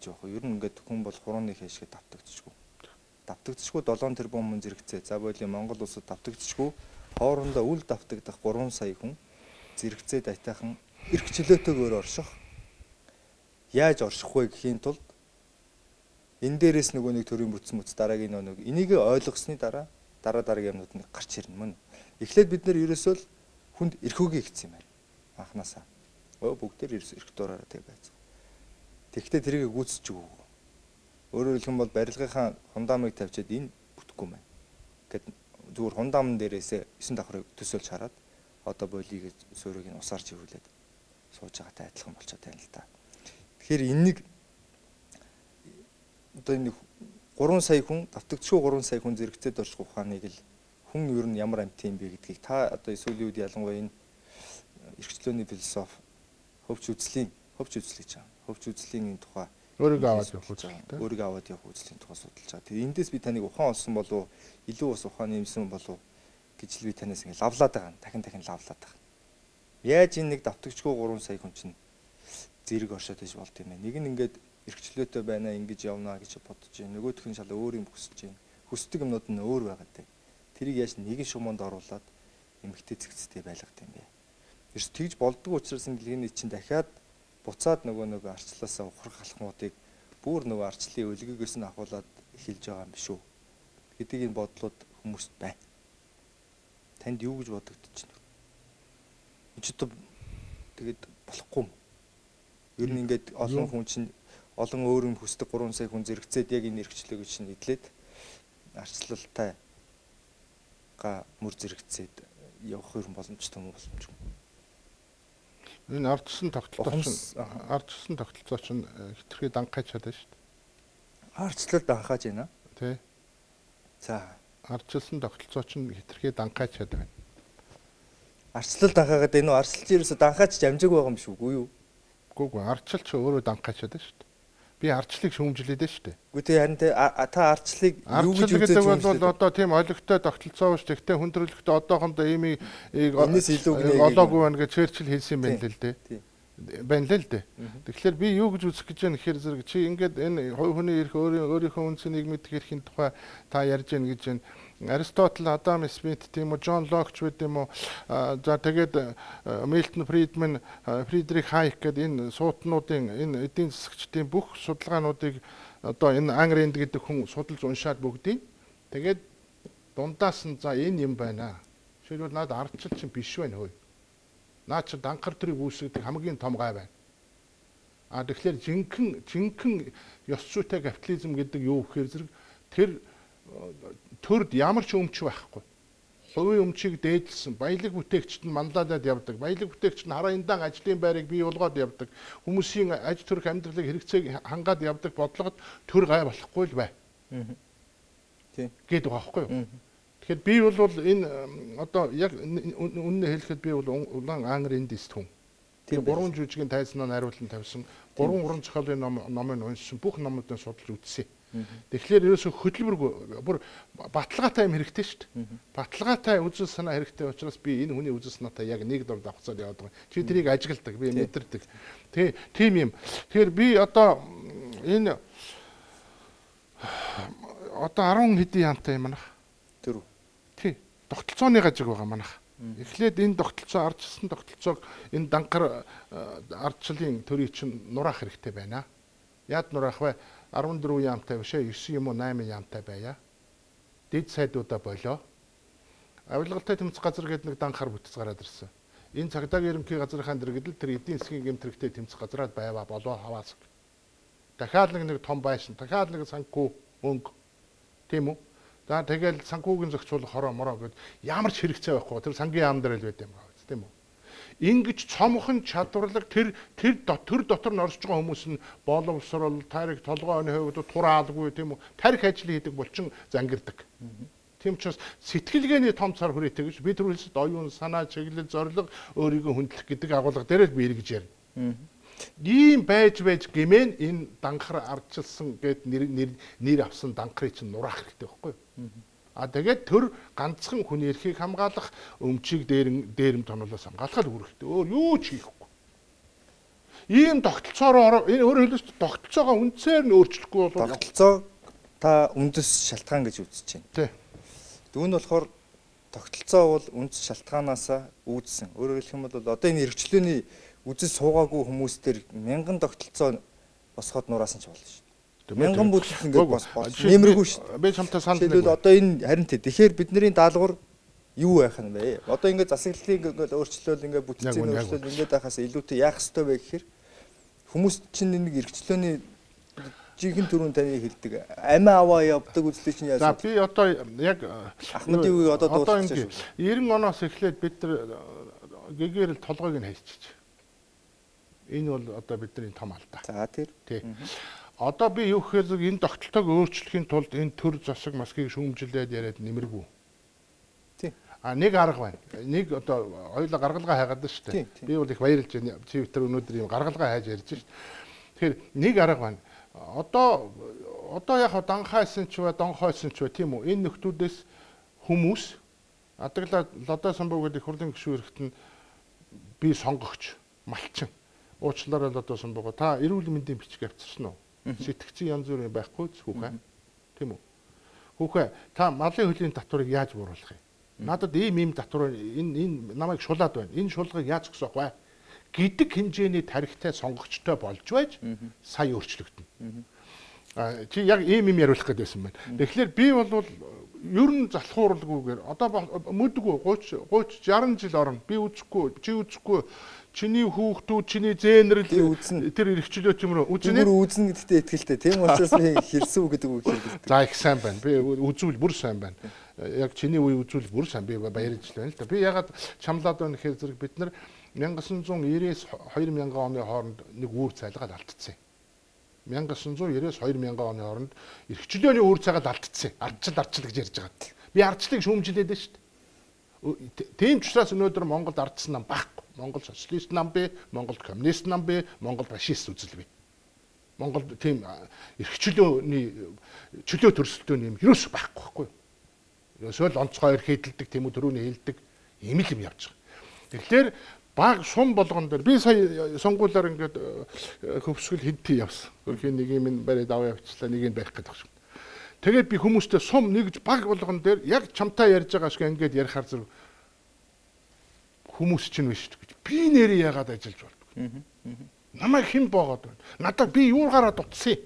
жоох. Ер нь ингээд хүн бол хурууны хэшгээ давтагдчихгүй. Давтагдчихгүй 7 тэрбум хүн зэрэгцээ. За бойлын Монгол улсад давтагдчихгүй хоорондоо үл давтагдах 3 сая хүн зэрэгцээ дайтайхан эрх чөлөөтэйгээр орших. Яаж орших вэ гэхийн тулд энэ дээрээс нөгөө нэг төрийн бүтц дараагийн нэг энийг ойлгосны дараагийн юмнууд нэг гарч ирнэ мөн. Эхлээд бид нэр ерөөсөө л хүнд эрх үгүй хийсэн юм байна. Анханасаа. Бүгдээр ерөөсөө эрх дуурайраа тэг байц. Тэгвэл тэрийг гүйцэж өгөө. Өөрөөр хэлэх юм бол барилгынхаа хундамыг тавьчаад энэ бүтэхгүй мэн. Гэт зүгээр хундамн дээрээсээ 9 давхрыг төсөөлж хараад одоо бойлыг суурийг нь усаар чивүүлээд сууж байгаатай адилхан болчиход байна л да. Тэгэхээр энэнийг одоо энэ 3 сая хүн давтагдчихгүй 3 сая хүн зэрэгцээд орчих ухааныг л хүн ер нь ямар амт юм бэ гэдгийг та одоо сүүлийн үед ялангуяа энэ эрхчлөөний философи хөвч үзлийн тухай өөрийгөө аваад явах үзлийн тухай судалж байгаа. Тэгээ эндээс би таныг ухаан олсон болов илүү бас ухааны юмсан болов гэж л би танаас ингэ лавлаад байгаа. Дахин лавлаад байгаа. Яаж энэ нэг давтагдчихгүй 3 сая хүн чинь зэрэг оршоод иж болд юм бэ? Нэг нь ингээд эрхчлөөтэй байна ингэж явнаа гэж бодож байна. Нөгөөх нь шал өөр юм хүсэж байна. Хүсдэг юмнууд нь өөр байгаад байна. Тэрийг яаж нэгэн шумуунд оруулаад эмгэгтэй зэгцтэй байлгад юм бэ? Ерс тэгж болдгоо учраас инглиний чинь дахиад буцаад нөгөө арчлаасаа ухрах алхмуудыг бүр нөгөө арчлалын өлгөгөөс нь ахуулаад эхэлж байгаа юм биш үү? Гэдгийг энэ бодлууд хүмүүст байна. Танд юу гэж бодогдож байна? Өчигдөр тэгээд болохгүй юм. Ер нь ингээд олон хүн чинь олон өөр юм хүсдэг 3 сая хүн зэрэгцээд яг энэ эрхчлөөг чинь идлээд арчлалтай мөр зэрэгцээд явах юм боломжтой юм боломжгүй. Энэ ардчсан тогтолцоо чинь хитрхи дангахаж чадсан шүү дээ. Ардчлалд анхааж байна. Тий. За, ардчилсан тогтолцоо чинь хитрхи дангахаж чадсан байна. Ардчлалд анхаагаад энэ ардчлалч ерөөсө дангахаж амжаагүй байгаа юм шиг үгүй юу? Үгүй ардчлалч өөрөө дангахаж чадсан шүү дээ. Би ардчлалыг шүүмжлээд байна шүү дээ. Үгүй тэгээ харин та ардчлалыг юу гэж үзэж байгаа бол одоо тийм олигтой тогтолцоо биш тэгтээ хүндрэлтэй одоохондоо ийм энэс илүү олоогүй байна гэж Черчилль хэлсэн юм байна л дээ. Байна л дээ. Тэгэхээр би юу гэж үзэх гэж байна гэхээр зэрэг чи ингээд энэ хувь хүний эрх өөрийнхөө үндсэн нийгмийн эрхийн тухай та ярьж байна гэж байна. Аристотл, Адам Смит тийм үү, Джон Лок ч үгүй юм уу. За тэгээд Милтон Фридман, Фридрих Хайк гэдэг энэ суутнуудын энэ эдийн засагчдын бүх судалгаануудыг одоо энэ Ан Рэнд гэдэг хүн судалж уншаад бүгдийг тэгээд дундаас нь за энэ юм байна. Жишээлбэл наад ардчил чинь биш байна хөөе. Наад чи данхар төрийг үүсгэх хамгийн том гай байна. Тэгэхээр жинхэнэ ёс зүйтэй капитализм гэдэг юу гэхээр зэрэг тэр төрд ямар ч өмч байхгүй. Хувийн өмчийг дээдлсэн, баялаг бүтээгчд нь манлайлаад явдаг. Баялаг бүтээгчд нь хараа эндан ажлын байрыг бий болгоод явдаг. Хүмүүсийн аж төрх амьдралыг хэрэгцээг хангаад явдаг бодлогод төр гай болохгүй л бай. Тийм. Гээд байгаа байхгүй юу? Тэгэхээр би бол энэ одоо яг үнэн хэлэхэд би бол улаан Ан Рэндист хүн. Тэр 3 жүжигийн тайзнаа найруулан тавьсан, 3 уран зохиолын номыг уншсан, бүх номуудыг судалж үзсэн. Тэгэхээр ерөөсө хөдөлмөргүй бүр баталгаатай юм хэрэгтэй шүү дээ. Баталгаатай үзэл санаа хэрэгтэй учраас би энэ хүний үзэл санаатай яг нэг дор давхцаад яваад байгаа. Чи тэрийг ажигладаг, би мэдэрдэг. Тийм юм. Тэгэхээр би одоо энэ одоо 10 хэдийн яамтай юм манах. Тэр үү? Тий. Тогтолцооны гажиг байгаа манах. Эхлээд энэ тогтолцоо ардчилсан тогтолцоог энэ данхар ардчлалын төрийн чинь нураах хэрэгтэй байна. Яад нураах вэ? 14 яамтай биш ээ 9 юм уу 8 яамтай байя. Дэд сайдуудаа болоо. Авилгалтай тэмцэх газар гэдэг нэг данхар бүтц гараад ирсэн. Энэ цагдаагийн ерөнхий газрынхаа дэргэдэл тэр эдийн засгийн гэмтрэгтэй тэмцэх газраад байваа болоо хаваас. Дахиад нэг том байшин, дахиад нэг санхүү өнгө. Тийм үү? За тэгэл санхүүгийн зохицуулах хороо мороо гэд ямар ч хэрэгцээ байхгүй. Тэр сангийн яам дээр л байд юм аа. Тийм үү? Ингиж цомхон чадварлаг тэр дотор нь орж байгаа хүмүүс нь боловсрол, тарих, толгойн хувьд тураалгүй тийм үү? Тарих ажил хийдэг булчин зангирдаг. Тийм учраас сэтгэлгээний том цар хүрээтэй гэж би түрүүлсэд оюун санаа, чиглэл, зорилго өөрийгөө хүндлэх гэдэг агуулга дээр л би эргэж ярина. Ийм байж гэмээр энэ данхар ардчилсан гэд нэр авсан данхрыг чинь нураах хэрэгтэй байхгүй юу? Тэгээд төр ганцхан хүний эрхийг хамгаалах, өмчийг дээрэм тоноолоос хамгаалахад үүрэгтэй. Өөр юу ч хийхгүй. Ийм тогтолцоороо энэ өөрөөр хэлбэл тогтолцоогоо үндсээр нь өөрчлөхгүй бол тогтолцоо та үндэс шалтгаан гэж үзэж байна. Тий. Түүн болохоор тогтолцоо бол үндэс шалтгаанаас үүдсэн. Өөрөөр хэлэх юм бол одоо энэ эрхчлөөний үзэл суугаагүй хүмүүс төр мянган тогтолцоо босгоод нураасан ч болно шүү. Мянган бүлэг ингээд болж нэмэргүй шүү. Би чамтай санал нэг. Одоо энэ харин тэгэхээр бидний даалгавар юу байх нь бэ? Одоо ингээд засаглалыг ингээд өөрчлөөл ингээд бүтцийн өөрчлөл ингээд байхаас илүүтэй яах ёстой вэ гэхээр хүмүүс чинь нэг эрхчлөөний жинхэнэ төрүн таны хэлдэг амиа аваа явдаг үзлээ чинь яаж. За би одоо яг Ахмадын үеийг одоо дуусгаж байна шүү. 90 оноос эхлээд бид нар гэгээр л толгойг нь хайчиж. Энэ бол одоо бидний том алдаа. За тий. Одоо би юу гэхээр энэ тогтолцоог өөрчлөхийн тулд энэ төр засаг масгийг шүүмжлээд яриад нэмэргүй. Тий. Нэг арга байна. Нэг одоо хоёулаа гаргалгаа хайгаад шүү дээ. Би бол их баярлж байна. Чи тэр өнөөдөр юм гаргалгаа хайж ярьж шүү. Тэгэхээр нэг арга байна. Одоо яг данхайсан ч бай, донхойсон ч бай тийм үү? Энэ нөхдүүдээс хүмүүс адаглаа лодоо самбуу гэдэг их хурлын гишүүн эрэхт нь би сонгогч, малчин. Уучлаарай лодоо самбууга та эрүүл мэндийн бичиг авчирсан уу? Сэтгцэн янз бүрийн байхгүй хүүхэн. Тийм үү? Хүүхэн та малын хөлийн татварыг яаж бууруулах юм? Надад ийм татвар энэ намайг шулаад байна. Энэ шулгыг яаж зогсоох вэ? Гэдэг хэмжээний тарихтай сонгогчтой болж байж сая өөрчлөгдөнө. Чи яг ийм яриулах гэдэг байсан байна. Тэгэхээр би бол ер нь залхууралгүйгээр одоо мэдгүй 30 60 жил орно. Би үзэхгүй, чи үзэхгүй. Чиний хүүхдүүд, чиний зээнэрл тэр эрхчлөө чимрөө үзнэ гэдэгтээ итгэлтэй. Тийм учраас би хэлсэн үг гэдэг үг хэлдэг. За их сайн байна. Би үзүүл бүр сайн байна. Яг чиний үе үзүүл бүр сайн. Би баярлж байна л да. Би ягаад чамлаад байна гэхээр зэрэг бид нар 1990-с 2000 оны хооронд нэг үүр цайлгаад алдчихсан. 1990-с 2000 оны хооронд эрхчлөөний үүр цайгаад алдчихсан. Ардчил гэж ярьж байгаа. Би ардчлалыг шүүмжилээд байна шүү дээ. Тийм ч учраас өнөөдөр Монголд ардсан нам байхгүй. Монгол социалист нам бэ, Монгол коммунист нам бэ, Монгол фашист үзэл бэ. Монголд тийм чөлөө төрсөлтөө юм ерөөс байхгүй. Ерөөсөө л онцгой эрх хэдэлдэг, тийм үү төрөний хэлдэг ийм л юм явж байгаа. Тэгэхээр баг сум болгон дээр би сая сонгуулиар ингээд хөвсгөл хэдтий явсан. Хөрхийн нэг юм барайд аваа явчлаа, нэг нь байх гэдэг шиг. Тэгээд би хүмүүстэй сум нэгж баг болгон дээр яг чамтай ярьж байгаа шиг ингээд ярихаар зэрэг хүмүүс чинь биш гэж. Би нэрээ яагаад ажиллаж болдог. Намайг хэн боогод байна. Надад би юугаараа дутсан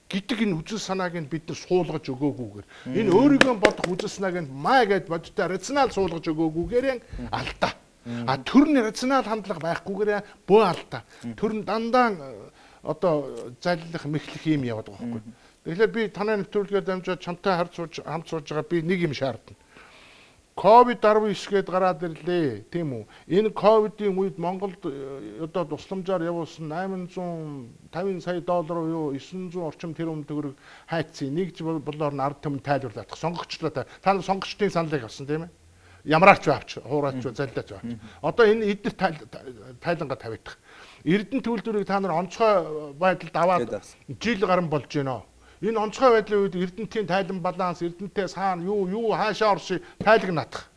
гэдэг энэ үзэл санааг нь бид нар суулгаж өгөөгүйгээр энэ өөрийгөө бодох үзэл санааг нь маа гэд бодтой рационал суулгаж өгөөгүйгээр алдаа. Төрний рационал хандлага байхгүйгээр бөө алдаа. Төр нь дандаа одоо залилах мэхлэх юм яваад байгаа байхгүй. Тэгэхээр би танай нэвтрүүлгээр дамжаад чамтай хамт сууж байгаа би нэг юм шаардна. COVID-19 гээд гараад ирлээ, тийм үү? Энэ ковидын үед Монголд одоо тусламжаар явуулсан 850 сая доллар юу 900 орчим тэрбум төгрөг хайцсан. Нэгж болоор нь ард түмэн тайлбарлаад сонгогчлоо та сонгогчдын саналыг авсан тийм ээ? Ямараач авч, хуураач, залдаач авч. Одоо энэ эдгээр тайлангаа тавигдах. Эрдэнэ төлөвлөрийг та нар онцгой байдалд аваад жил гарan болж байна. Энэ онцгой байдлын үед Эрдэнэтийн тайлан баланс, Эрдэнэтээ саана юу хаашаа орши тайлагнатах.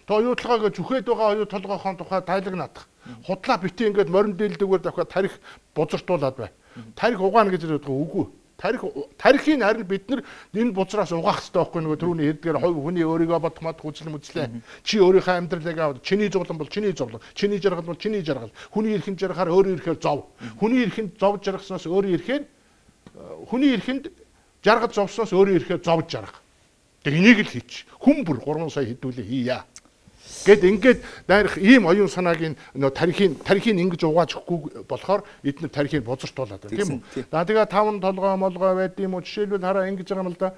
То оюутлагаа зүхэд байгаа оюут толгойхон тухай тайлагнатах. Худлаа битээ ингээд морин дээлдэггээр давхад тарих бузартуулаад бай. Тарих угаана гэж яриад байгаа үгүй. Тарихыг харин бид нар энэ бузраас угаах хэрэгтэй байхгүй нөгөө түрүүний хэлдгээр хүний өөрийгөө бодох мод хүчлэн мүзлээ. Чи өөрийнхөө амьдралыг аваад чиний зовлон бол чиний зовлон, чиний жаргал бол чиний жаргал. Хүний эрхэнд жаргахаар өөрөө ирэхээр зов. Хүний эрхэнд зовж жаргаснаас өөрөө ирэхээр хүний эрхэнд жаргаж зовсноос өөрөө ирэхээр зовж жаргах. Тэг энийг л хийч. Хүн бүр 3 сая хэдүүлээ хийя. Гэт ингээд дайрах ийм оюун санааг нөө тарихын ингэж угааж өгөхгүй болохоор эдгээр тарихыг бузартуулаад байна тийм үү. За тэгээ 5 толгой молгой байд юм уу жишээлбэл хараа ингэж байгаа юм л да.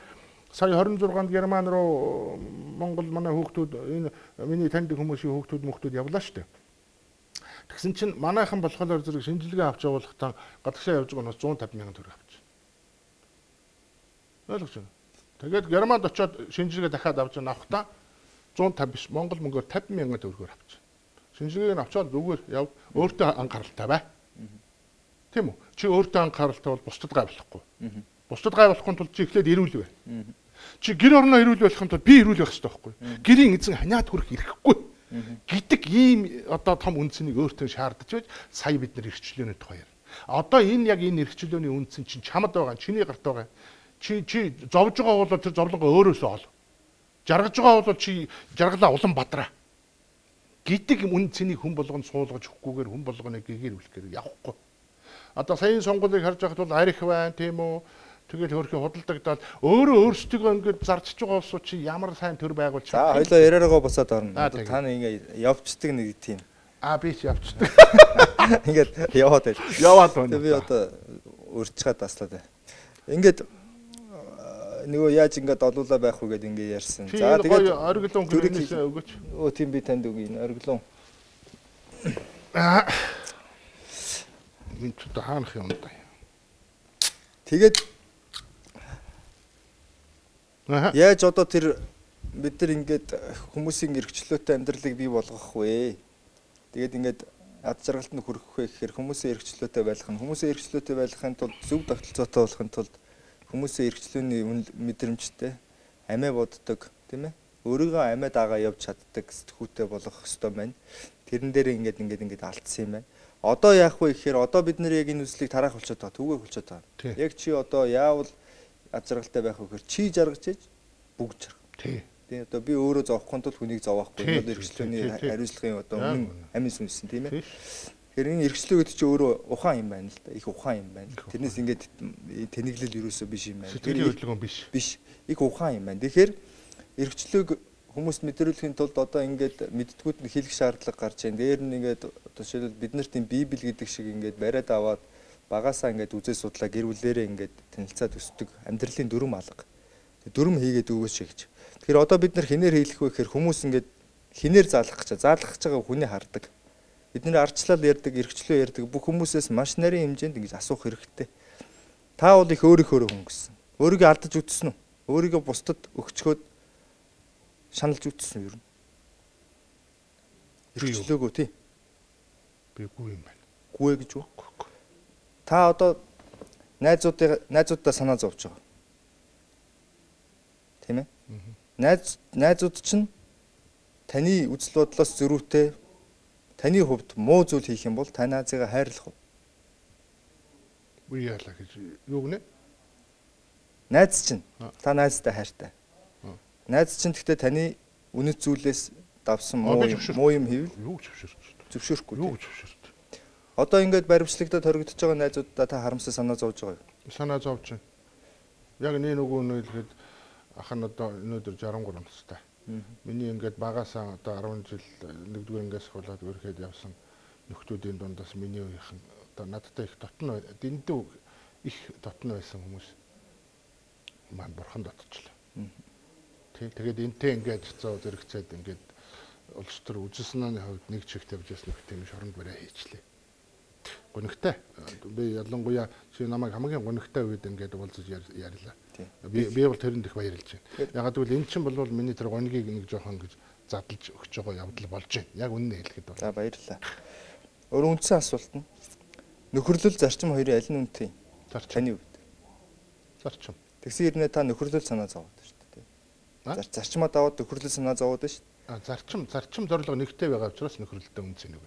Сая 26-нд Герман руу Монгол манай хүүхдүүд энэ миний таньдаг хүмүүсийн хүүхдүүд явлаа шүү дээ. Тэгсэн чинь манайхан болохоор зэрэг шинжилгээ авч явуулахдаа гадагшаа явж байгаа нь 150 мянган төгрөг авчих. Ойлгож байна. Тэгээд Германд очиод шинжилгээ дахиад авч авахдаа 150 биш Монгол мөнгөөр 50 мянган төгрөгөөр авчих. Шинжилгээг нь авчаад зүгээр яв өөртөө анхааралтай бай. Тийм үү? Чи өөртөө анхааралтай бол бусдад гайвлахгүй. Бусдад гайвлахгүй тул чи эхлээд ирүүл бай. Чи гэр орноо ирүүл болохын тулд би ирүүл байх хэрэгтэй байхгүй. Гэрийн эзэн ханиад хүрэх ирэхгүй. Гэдэг ийм одоо том үндсэнийг өөртөө шаардаж байж сая бид нар эрхчлөөний тухай ярина. Одоо энэ яг энэ эрхчлөөний үндсэн чинь чамд байгаа, чиний гарт байгаа. Чи зовж байгаа бол тэр зовлонгоо өөрөөсөө ол. Жаргаж байгаа бол чи жаргалаа улам бадраа. Гэдэг үн цэнийг хүн болгонд суулгаж өгөхгүйгээр хүн болгоны гэгээр үлэхээр явахгүй. Одоо саяын сонгуулийг харж байхад бол арх байна тийм үү? Тэгэл хөрхи худалдагдаад өөрөө өөрсдөө ингээд зарчиж байгаа улсууд чи ямар сайн төр байгуулж байгаа. За хоёлоо яриараагаа босоод орно. Та нэг ингээд явцдаг нэг тийм. Би ч явцдаг. Ингээд яваад байл. Яваад байна. Би одоо урьдчаад таслаад байна. Ингээд нөгөө яаж ингээд олуулаа байх вэ гэдээ ингээд ярьсан. За тэгээд ориглон хүнээс өгөөч. Тийм би танд өгье энэ ориглон. Энд ч хаанах юм да. Тэгээд яаж одоо тэр бид нар ингээд хүмүүсийн эрхчлөөтэй амьдралыг бий болгох вэ? Тэгээд ингээд ад жаргалд нь хүрэх вэ гэхээр хүмүүсийн эрхчлөөтэй байх нь хүмүүсийн эрхчлөөтэй байхын тулд зөв тогтолцоотой болохын тулд хүмүүсийн эрхчлөөний мэдрэмжтэй амиа боддог тийм ээ өөрийгөө амиа дагаа явж чаддаг сэтгүүтэй болох ёстой байна. Тэрэн дээр ингээд алдсан юм байна. Одоо яах вэ гэхээр одоо бид нэр яг энэ үслийг тараах болчиход байгаа. Түгээх болчиход байгаа. Яг чи одоо яавал ад жаргалтай байх вэ гэхээр чи жаргаж ээж бүгд жаргах. Тийм одоо би өөрөө зовхгүй тул хүнийг зовохгүй. Энэ бол эрхчлөөний хариуцлагын одоо өмнө амин сүнсэн тийм ээ. Тэгэхээр энэ эрхчлөө гэдэг чинь өөрөө ухаан юм байна л да. Их ухаан юм байна. Тэрнээс ингээд тэнэглэл юусоо биш юм байна. Сэтгэлийн хөдөлгөөн биш. Биш. Их ухаан юм байна. Тэгэхээр эрхчлөөг хүмүүст мэдрүүлэхийн тулд одоо ингээд мэддгүүд нь хэлэх шаардлага гарч байна. Дээр нь ингээд одоо жишээлбэл бид нар тийм Библи гэдэг шиг ингээд бариад аваад багасаа ингээд үзээ судлаа гэр бүлээрээ ингээд танилцаад өсдөг амьдралын дүрм алга. Дүрм хийгээд өгөөч гэж. Тэгэхээр одоо бид нар хинээр хийлэх вэ гэхээр хүмүүс ингээд хинээр заалгах гэж байгаа хүний хардаг. Бидний ардчлал ярьдаг, эрхчлөө ярьдаг бүх хүмүүсээс маш нарийн хэмжээнд ингэж асуух хэрэгтэй. Та бол их өөрийнхөө хүн гэсэн. Өөрийгөө алдаж үтсэн үү? Өөрийгөө бусдад өгчхөөд шаналж үтсэн юу? Эрхчлөөгөө тий. Би гүй юм байна. Гүй гэж үү? Та одоо найзуудаа санаа зовж байгаа. Тийм ээ? Найзууд чинь таны үзэл бодлоос зөрүүтэй таны хувьд муу зүйл хийх юм бол та найзыгаа хайрлах уу? Үгүй яалаа гэж юу гэнэ? Найз чинь та найзтай хайртай. Найз чинь гэхдээ таны үнэт зүйлээс давсан муу юм хийвэл юу зөвшөөрөх. Зөвшөөрөхгүй. Юу зөвшөөрөх. Одоо ингээд баримтлагтад хоригдож байгаа найзуудаа та харамсаа санаа зовж байгаа юу? Санаа зовж байна. Яг нөгөө нь хэлэхэд ах нь одоо өнөөдөр 63 настай. Миний ингээд багасаа одоо 10 жил 1-р ангиас хуулаад өрхөд явсан нөхдүүдийн дундаас миний үеийнхэн одоо надтай их дотно дэндүү их дотно байсан хүмүүс маань бурхан дотчлаа. Тэгээд энтэй ингээд цоо зэрэгцээд ингээд улс төр үжсэний хувьд нэг чиг тавьж ясна гэх тийм шоронд барай хийчлээ. Гонигтай. Би ялангуяа чи намайг хамгийн гонигтай үед ингээд уулзаж ярьлаа. Би бол тэрэнд их баярлж байна. Ягаад гэвэл эн чинь бол миний тэр гонигийг нэг жоохон гэж задлж өгч байгаа явдал болж байна. Яг үнэн хэлэхэд бол. За баярлалаа. Өөр үндсэн асуулт нь нөхөрлөл зарчим хоёрын аль нь үнэтэй? Таны хувьд. Зарчим. Тэгсэн хэрнээ та нөхөрлөл санаа зовоод шүү дээ. Зарчмаа даваад нөхөрлөл санаа зовоод шүү дээ. Зарчим зорилго нэгтэй байгаа учраас нөхөрлөлтөө үнцэн нэг.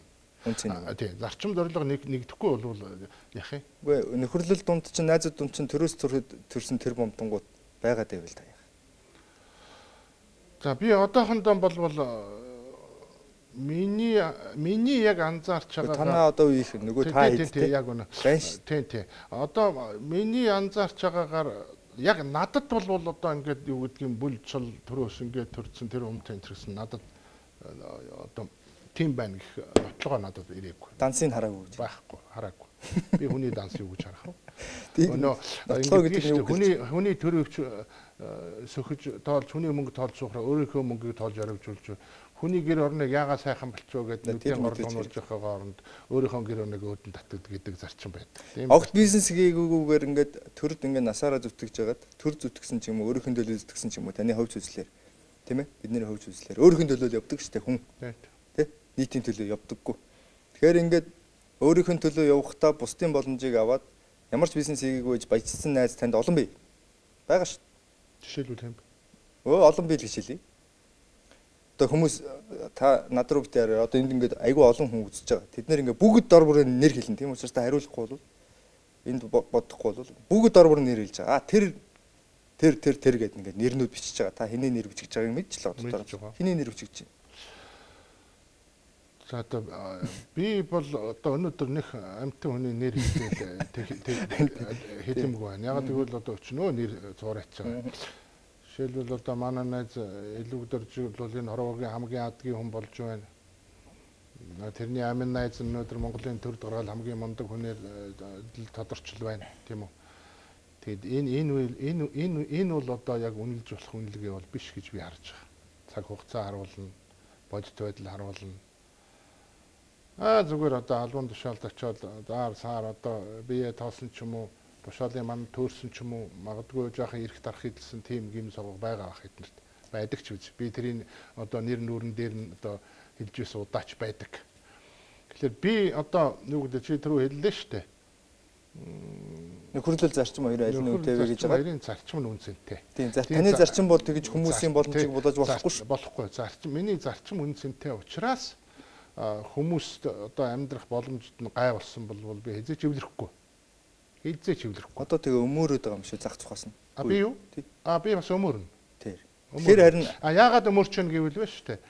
Тийм. Зарчим зорилго нэгдэхгүй бол яах юм? Үгүй нөхөрлөл дунд чинь найзууд дунд чинь төрөөс төрсөн тэр бомтонгууд байгаад байвал та яах. За би одоохондоо болвол миний яг анзаарч байгаа танаа одоо үеийнх нөгөө та тийм яг үнэ. Тийм. Одоо миний анзаарч байгаагаар яг надад бол одоо ингээд юу гэдгийг бүл цол төрөөс ингээд төрсөн тэр өмтэн төрсөн надад одоо тийм байна гэх бодлогоо надад ирээгүй. Дансыг хараагүй гэж. Байхгүй, хараагүй. Би хүний данс юу гэж харах вэ? Өнөө хүний төрөвч сөхөж тоолж хүний мөнгө тоолж суухраа өөрийнхөө мөнгийг тоолж оривжуулж хүний гэр орныг яагаад сайхан болчихоо гэдэг нүдийн горлонуулж явахгаа оронд өөрийнхөө гэр орныг өөдөн татдаг гэдэг зарчим байдаг. Огт бизнес хийгээгүйгээр ингээд төрд ингээд насаараа зүтгэж жагаад төр зүтгэсэн ч юм уу өөрийнхөө төлөө зүтгэсэн ч юм уу таны ховж үзлээр тийм ээ бидний ховж үзлээр өөрийнхөө төлөө явдаг штэ хүн тий нийтийн төлөө явдаггүй. Тэгэхээр ингээд өөрийнхөө төлөө явахдаа бусдын боломжийг аваад ямар ч бизнес хийгээгүй гэж баяжсан найз танд олон бий. Бага шүү. Жишээлбэл юм. Олон бий л гэж хэлье. Одоо хүмүүс та над руу битээр одоо энд ингээд айгүй олон хүн үзэж байгаа. Тэд нэр ингээд бүгд дор бүрээ нэр хэлнэ. Тийм учраас та хариулахгүй бол энд бодохгүй бол бүгд дор бүрээ нэр хэлж байгаа. Тэр гэдэг ингээд нэрнүүд бичиж байгаа. Та хэний нэр бичиж байгааг мэдчихлээ одоо. Хэний нэр бичиж байна. За одоо би бол одоо өнөөдөр нэг амтэн хүний нэр хэлэмгүй байна. Яг тэгвэл одоо өчнөө нэр зураач байгаа. Жишээлбэл одоо манай найз Илүүгдэр бол энэ хорвогийн хамгийн адгийн хүн болж байна. Тэрний амин найз өнөөдөр Монголын төр дургаал хамгийн мундаг хүнээр тодорчл байна, тийм үү? Тэгэд энэ бол одоо яг үнэлж болох үнэлгээ бол биш гэж би харж байгаа. Цаг хугацаа харуулна, бодит байдал харуулна. Зүгээр одоо албан тушаалд очиод сар одоо бие тоосон ч юм уу, тушаалын манд төөрсөн ч юм уу, магадгүй жоохон эрх дарах хэлсэн тийм гим сувг байгаа ах эднэрт байдаг ч үз. Би тэрийн одоо нэр нүүрэн дээр нь одоо хэлж байсан удаач байдаг. Тэгэхээр би одоо юу гэдэг чи түрүү хэллээ шүү дээ. Нөхөрлөл зарчим хоёр аль нь үнэтэй вэ гэж байгаа. Хоёрын зарчим нь үнцэнтэй. Тийм. Таны зарчим бол тэгж хүмүүсийн боломжийг бодож болохгүй шүү. Болохгүй. Миний зарчим үнцэнтэй учраас хүмүүст одоо амьдрах боломжид нь гай болсон бол би хязгаарч эвлэрэхгүй. Одоо тэгээ өмөрөөд байгаа юм шиг зах цухаас нь. Би юу? Би бас өмөрнө. Тэр. Тэгэхээр харин яагаад өмөрч вэ гэвэл байна шүү дээ.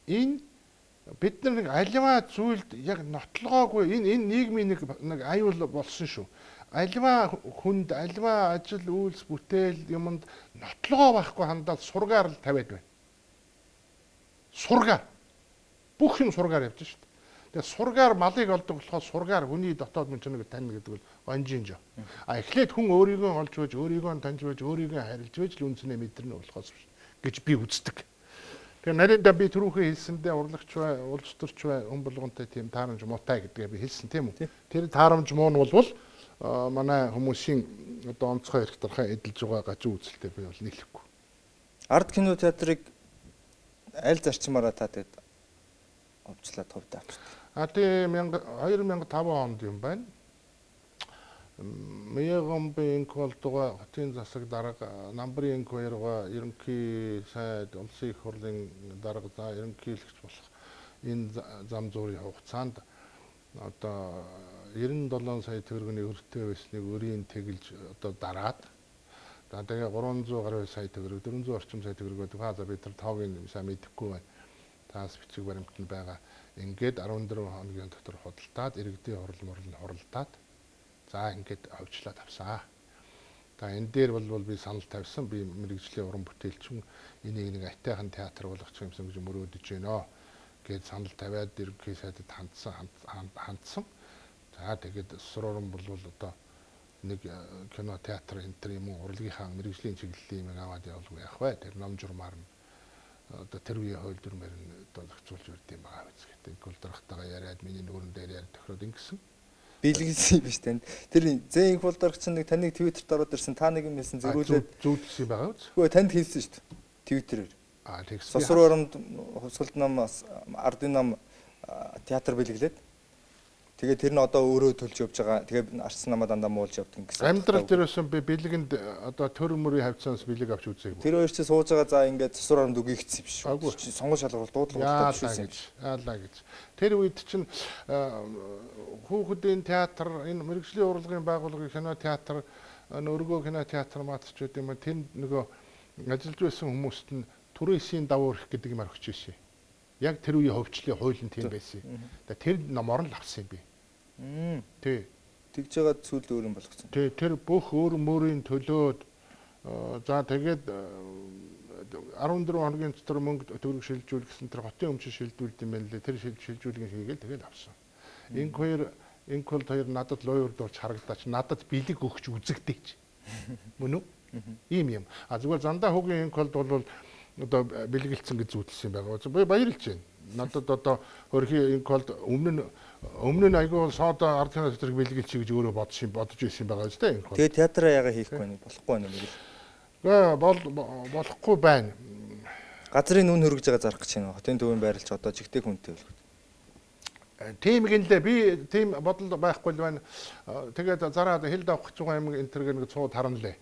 Энэ бид нар нэг аливаа зүйлд яг нотлогоогүй энэ нийгмийн нэг аюул болсон шүү. Аливаа хүнд аливаа ажил үйлс бүтээл юмд нотлогоо байхгүй хандаад сургаар л тавиад байна. Сургаар. Бүх юм сургаар явж шүү дээ. Тэгээ сургаар малыг олдог болохоор сургаар хүний дотоод мөнчнийг тань гэдэг бол онжинж. Эхлээд хүн өөрийгөө олж байж, өөрийгөө таньж байж, өөрийгөө харилж байж л үнснээ мэдэрнэ болохоос гэж би үздэг. Тэгээ нарийнда би түрүүхээ хэлсэндээ урлагч бай, улс төрч бай, хүн болгонтой тийм таарамж муутай гэдгээ би хэлсэн тийм үү? Тэр таарамж муу нь бол манай хүмүүсийн одоо онцгой эрх дарахаа эдэлж байгаа гажуу үзэлтэй би бол нийлэхгүй. Арт кино театрыг аль зарчмаараа та тэгэд овчлаад хувьд авчдаг. Тийм 2005 онд юм байна. Мэйгомбинг болтуга хотын засаг дарга намбрын хоёроо ерөнхий сайд улсын их хурлын дарга за ерөнхийлөгч болох энэ зам зуурын хугацаанд одоо 97 сая төгрөгийн өртөө байсныг өрийн тэгэлж одоо дараад тэгээ 300 гаруй сая төгрөг 400 орчим сая төгрөг байдаг. За бид тэр тоогийн сайн мэдэхгүй байна. Таас бичиг баримтанд байгаа. Ингээд 14 хоногийн дотор худалдаад иргэдийн хуралдаад за ингээд авчлаад авсаа. Энэ дээр бол би санал тавьсан. Би мэрэгжлийн уран бүтээлчин энийг нэг атайхан театр болгочих юмсан гэж мөрөөдөж байна гэд санал тавиад ерөнхий сайдад хандсан. За тэгээд сурууран бол одоо нэг кино театр энтер юм уу урлагийнхаа мэрэгжлийн чиглэлийн юм аваад явуулгүй яах вэ? Тэр ном журмаар нь одоо тэр үеийн хууль дүрмээр нь одоо зохицуулж өрд юм байгаа биз гэдэг. Гүлдрахтайгаа яриад миний нүүрэн дээр яриад тохироод ингэсэн. Биелгэлсэн биш танд. Тэр зэн их болдорч нэг таныг Твиттерт ороод ирсэн та нэг юм хэлсэн зэрүүлээд зүүдсэн байгаа үз. Хөөе танд хэлсэн шүү дээ. Твиттерээр. Тэгсэн. Сосроонд хусгалт ном ардын ном театр бэлгэлээд Тэгээ тэр нь одоо өөрөө төлж явж байгаа. Тэгээ арчсан намаа дандаа муулж явдаг гэсэн. Амьдрал дээрээс би бэлгэнд одоо төр мөрийн хавцаанаас бэлэг авч үзээгүй. Тэр хоёр чи сууж байгаа за ингээд засвар оронд үгийгдсэн биш үү? Сонгол шалгуурал дуудлага яалаа гэж. Тэр үед чинь хүүхдийн театр, энэ мэрэгжлийн урлагийн байгууллагын кино театр, өргөө кино театр маадч гэдэг юм. Тэр нөгөө ажиллаж байсан хүмүүст нь түрээсийн давуу эрх гэдэг юм орхиж ирсэн. Яг тэр үеийн хөвчлөлийн хууль нь тийм байсан. Тэр номоор нь авсан юм би. Тий. Тэгж байгаа зүйл өөр юм болгоцсон. Тий, тэр бүх өөр мөрийн төлөөд за тэгээд 14 хоногийн дотор мөнгө төгрөг шилжүүлэх гэсэн тэр хотын өмчөд шилжүүлдэг юм байна лээ. Тэр шилжүүлгийн хийгээл тэгээд авсан. Инкол хоёр надад лойрд орж харагдаач надад бэлэг өгч үзэгдээч. Мөн үү? Ийм юм. Зүгээр зандаа хөгийн инколд бол одоо бэлгэлцэн гэж зүйлсэн байгаа. Би баярлж байна. Надад одоо хөрхийн инколд өмнө нь айгүй соода ард кино театрыг бэлгэлчих гэж өөрөө бодож ирсэн байгаа шүү дээ инколд. Тэгээ театраа яага хийхгүй байна болохгүй байна юм. Болохгүй байна. Газрын нүн хөргөж байгаа зарах гэж байна. Хотын төвийн байрлалч одоо жигтэй хүнтэй болох. Тийм гинлээ би тийм бодол байхгүй л байна. Тэгээд зараад хил давах гэж байгаа юм энэ төр нэг цууд харанлаа.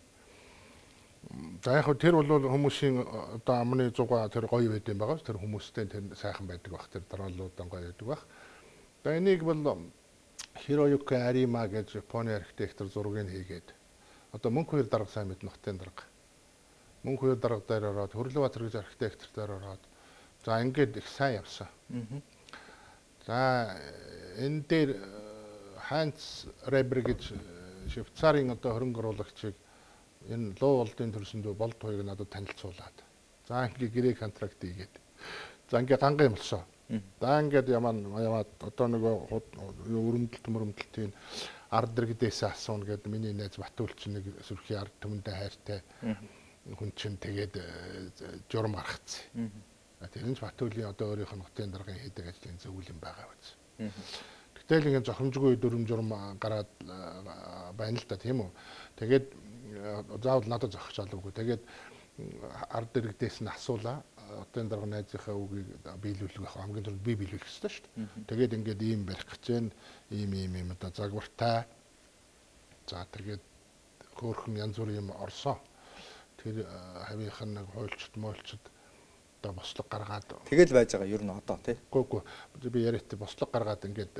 За яг тэр бол хүмүүсийн одоо амны зугаа тэр гоё байд юм байгаа. Тэр хүмүүстэй тэр сайхан байдаг баг. Тэр дараалуудаа гоё байдаг баг. За энийг бол Хироюки Арима гэж Японы архитектор зургийг хийгээд одоо мөнх хоёр дарга сайн мэднэ хотын дарга. Мөнх хоёр дарга дээр ороод Хөрлөбаатар гэж архитектор дээр ороод за ингээд их сайн явсан. За энэ дээр Хайнц Ребер гэж Швейцарын одоо хөрөнгө оруулагчийг энэ луу олдын төрсөндөө болд хоёрыг надад танилцуулаад. За ингээ грек контракт хийгээд. За ингээ ганга юм болсон. За ингээд яваад одоо нөгөө өрөмдөлтийн ард иргэдээс асууна гэдэг миний найз Батүлч нэг сүрхий ард түмэндээ хайртай хүн чинь тэгээд журам гаргацсан. Тэр нь Батүлийн одоо өөрийнх нь хотын даргын хийдэг ажлын зөвлөл юм байгаа биз. Гэтэл ингээд зохимжгүй дүрм журам гараад байна л да тийм үү. Тэгээд заавал надад зохиж олоогүй. Тэгээд ард иргэдээс нь асуулаа. Хотын дарга найзынхаа үгийг биелүүлэх хамгийн түрүүнд би биелүүлэх ёстой шүү дээ. Тэгээд ингээд ийм барих гэж байна. Ийм одоо загвартай. За тэгээд хөөрхөн янз бүрийн юм орсон. Тэр хавийнх нь нэг хуульчд мойлчд одоо бослог гаргаад тэгэл байж байгаа ер нь одоо тий. Гүг би яриад бослог гаргаад ингээд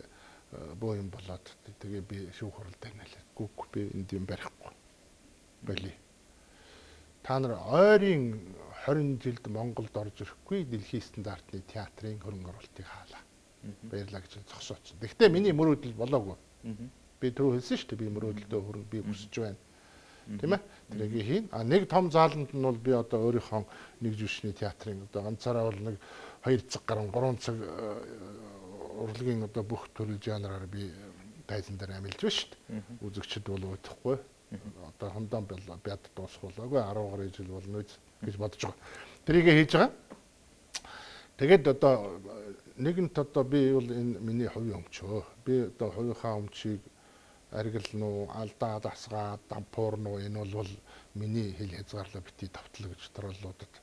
бөө юм болоод тэгээ би шүүх хуралдаа нэлээ. Гүг би энд юм барихгүй. Боли. Та нар ойрын 20 жилд Монголд орж ирэхгүй дэлхийн стандартны театрын хөрөнгө оруулалтыг хаалаа. Баярлаа гэж зогсооцсон. Гэхдээ миний мөрөөдөл болоогүй. Би түрүү хэлсэн шүү дээ. Би мөрөөдөлдөө хөрөнгө би өсөж байна. Тийм ээ? Тэрийг хийн. Нэг том зааланд нь бол би одоо өөрийнхөө нэг жүшний театрын одоо ганцаараа бол нэг 2 цаг гарan 3 цаг урлагийн одоо бүх төрөл жанраар би тайзан дээр амилж байна шүү дээ. Үзэгчд бол удахгүй. Одоо хондоо бяд дуусгуулаагүй 10 гаруй жил болно гэж бодож байгаа. Тэрийг хийж байгаа. Тэгээд одоо нэгэнт одоо би бол энэ миний хувийн өмчөө. Би одоо хувийнхаа өмчийг аргилна уу, алдаа дасгаа, дампуурна уу энэ бол миний хэл хязгаарлаа бити давтлаа гэж дараалуудад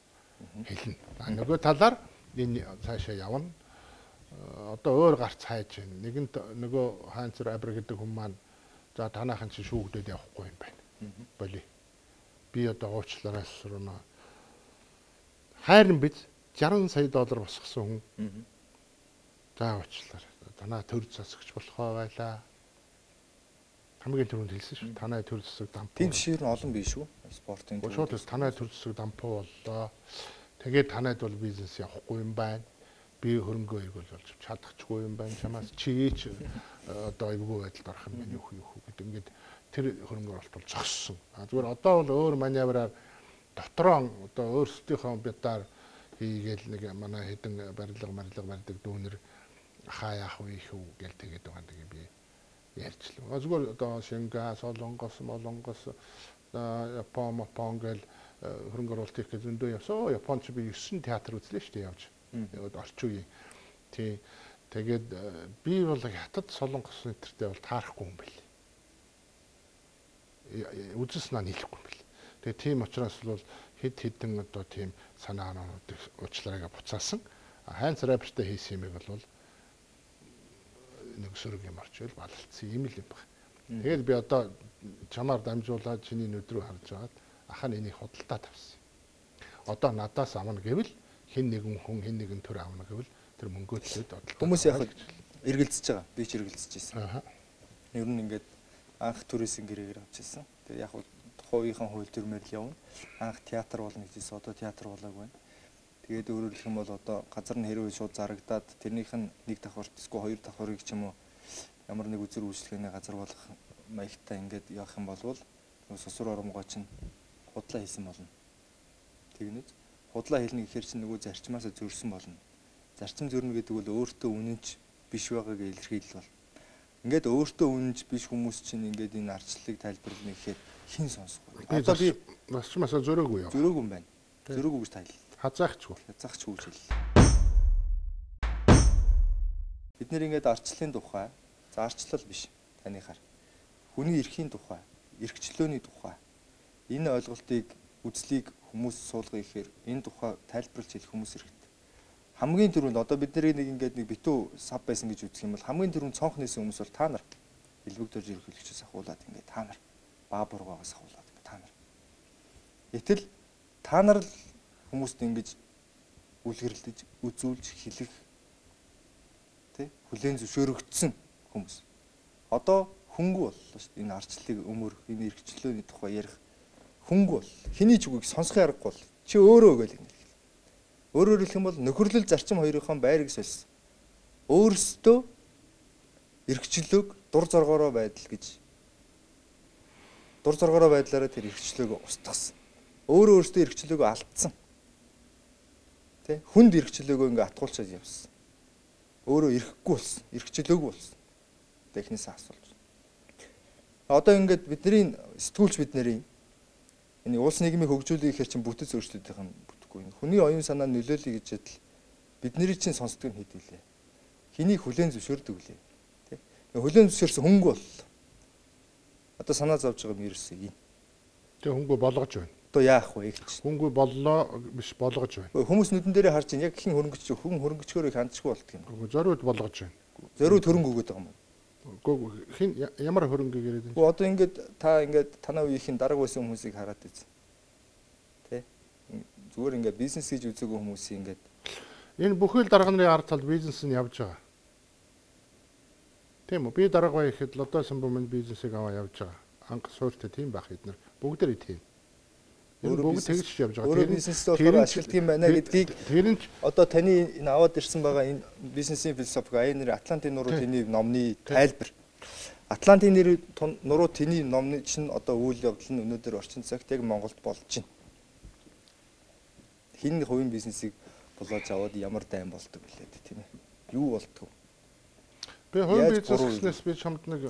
хэлнэ. Нөгөө талаар энэ цаашаа явна. Одоо өөр гарц хайж байна. Нэгэнт нөгөө Хайнц Ребер гэдэг хүн маань за танаахан чи шүүгдээд явахгүй юм байна. Боли. Би одоо уучлаараас сурна. Хайрн биз 60 сая доллар босгосон хүн. За уучлаар. Танаа төр засагч болохоо байлаа. Хамгийн түрүүнд хэлсэн шүү. Танай төр засаг дампуу. Тийм жишээ нь олон биш үү? Спортын. Шууд танай төр засаг дампуу боллоо. Тэгээд танайд бол бизнес явахгүй юм байна. Би хөрөнгө эргүүл болж чадахчгүй юм байна. Чамаас чийч одоо эвгүй байдалд орох юм байна юу гэдэг. Ингээд тэр хөрөнгө оруулалт бол зогссон. Зүгээр одоо бол өөр маневраар дотроо одоо өөрсдийнхөө битаар хийгээл нэг манай хэдэн барилга дүүнэр хаа яах вэ их үү гэл тэгээд байгаа нэг би ярьчлаа. Зүгээр одоо Шинга, Солонгос, Япон гэл хөрөнгө оруулалт хийх гэж зөндөө явсан. Японч би 9 театр үзлээ шүү дээ явж. Орчин үеийн. Тий. Тэгээд би бол хятад Солонгос нэртэй бол таарахгүй юм бэл. Үзэснаа нийлэхгүй юм бэл. Тэгээд тийм учраас бол хэдэн одоо тийм санаанууд уучлаарайгаа буцаасан. Хайнц Ребертэй хийсэн юм бол нэг сөрөг юм орчвол балалцсан юм л юм байна. Тэгээд би одоо чамаар дамжуулаад чиний нүд рүү харж агаад ахаа энийг худалдаа тавьсан. Одоо надаас авна гэвэл хэн нэгэн хүн хэн нэгэн төр авна гэвэл тэр мөнгөө төлөөд бодлоо. Хүмүүс яг эргэлзэж байгаа. Би ч эргэлзэж байсан. Ер нь ингээд анх түрээсийн гэрээгээр авчихсан. Тэгээ яг тухайхан хууль төрмөр л явна. Анх театр болно гэжсэн. Одоо театр болоогүй байна. Тэгээд өөрөөр хэлэх юм бол одоо газар нь хэрвээ шууд зарагдаад тэрнийх нь нэг давхарт эсвэл хоёр давхарыг ч юм уу ямар нэг үзэр үйлчлэгээний газар болох маягтай ингээд явах юм бол сосор оромгоо чинь худлаа хийсэн болно. Тэгнэж худлаа хэлнэ гэхээр чинь нөгөө зарчмаасаа зөрсөн болно. Зарчим зөрнө гэдэг бол өөртөө үнэнч биш байгааг илэрхийлэл бол. Ингээд өөртөө үнэнч биш хүмүүс чинь ингээд энэ арчлалыг тайлбарлана гэхээр хэн сонсох вэ? Одоо би зарчмаасаа зөрөөгүй юу? Зөрөөгүй юм байна. Зөрөөгүй гэж тайлбар. Хазаахчгүй. Хязгаахчгүй гэж хэллээ. Бид нэр ингээд арчлалын тухай, за арчлал биш танихаар. Хүний эрхийн тухай, эрхчлөөний тухай энэ ойлголтыг үзлийг хүмүүс суулгая гэхээр энэ тухай тайлбарлаж хэлэх хүмүүс хэрэгтэй. Хамгийн түрүүнд одоо бид нэг ингээд нэг битүү сав байсан гэж үзэх юм бол хамгийн түрүүнд цонх нээсэн хүмүүс бол та нар. Илбэг дөрж ерөнхийлөгчөөс ахуулаад ингээд та нар. Баабургаагаас ахуулаад ингээд та нар. Гэтэл та нар л хүмүүст ингэж үлгэрлэж, үзүүлж хэлэх тий хүлээн зөвшөөрөгдсөн хүмүүс. Одоо хөнгө боллоо шүү дээ. Энэ арчлалыг өмөрөх, энэ эрхчлөөний тухай ярих хөнгө бол хэний ч үгийг сонсохын аргагүй бол чи өөрөө өгөөл юм. Өөрөөр хэлэх юм бол нөхөрлөл зарчим хоёрынхоо байрыг сольсон. Өөрсдөө эрхчлөөг дур зоргоороо байдал гэж дур зоргоороо байдлаараа тэр эрхчлөөг устгасан. Өөрөөсдөө эрхчлөөг алдсан. Тэ хүнд эрхчлөөгөө ингээ атгуулчаад явсан. Өөрөө эрхгүй болсон, эрхчлөөгүй болсон. Технээс асуулж. Одоо ингээд бидний сэтгүүлч бидний энэ улс нийгмийг хөгжүүлэх гэхээр чинь бүтэц өөрчлөлтийнх нь бүтэхгүй. Хүний оюун санаа нөлөөлөе гэж ядл бидний чинь сонсдог нь хэд вүлээ. Хэнийг хүлээн зөвшөөрдөг вүлээ. Тэ хүлээн зөвшөөрсөн хөнгө бол одоо санаа зовж байгаа юм ерөөсөө юм. Тэг хөнгө болгож байна. Одоо яах вэ гэж. Хөнгө боллоо биш болгож байна. Хүмүүс нүдэн дээрээ харж ин яг хин хөрөнгөч хүн хөрөнгөчгөөрөө хандчихгүй болт юм. Зориуд болгож байна. Зориуд хөрөнгө өгöd байгаа юм. Гүү хин ямар хөрөнгө гэрээд байна. Одоо ингээд та ингээд танаа үеийнхэн дарга байсан хүмүүсийг хараад үз. Тэ? Зүгээр ингээд бизнес хийж үзээгүй хүмүүсийн ингээд энэ бүхэл дарга нарын ард талд бизнес нь явж байгаа. Тийм үү? Би дарга бай ихэд лодо самбумын бизнесийг аваа явж байгаа. Анх суурьтай тийм байх эднэр бүгдээ тийм. Энэ бүгд тэгж явж байгаа. Тэр бизнестэй болохоор ашигладаг юм байна гэдгийг одоо таны энэ аваад ирсэн байгаа энэ бизнесийн философи АН-ийн Атлантын нуруу тэний номны тайлбар. Атлантын нуруу тэний номны чинь одоо үйл явдал нь өнөөдөр орчин цагт яг Монголд болж байна. Хин хувийн бизнесийг болоож аваад ямар дайм болдог билээ тийм ээ. Юу болдгоо. Би хувийн бизнеснээс би чамд нэг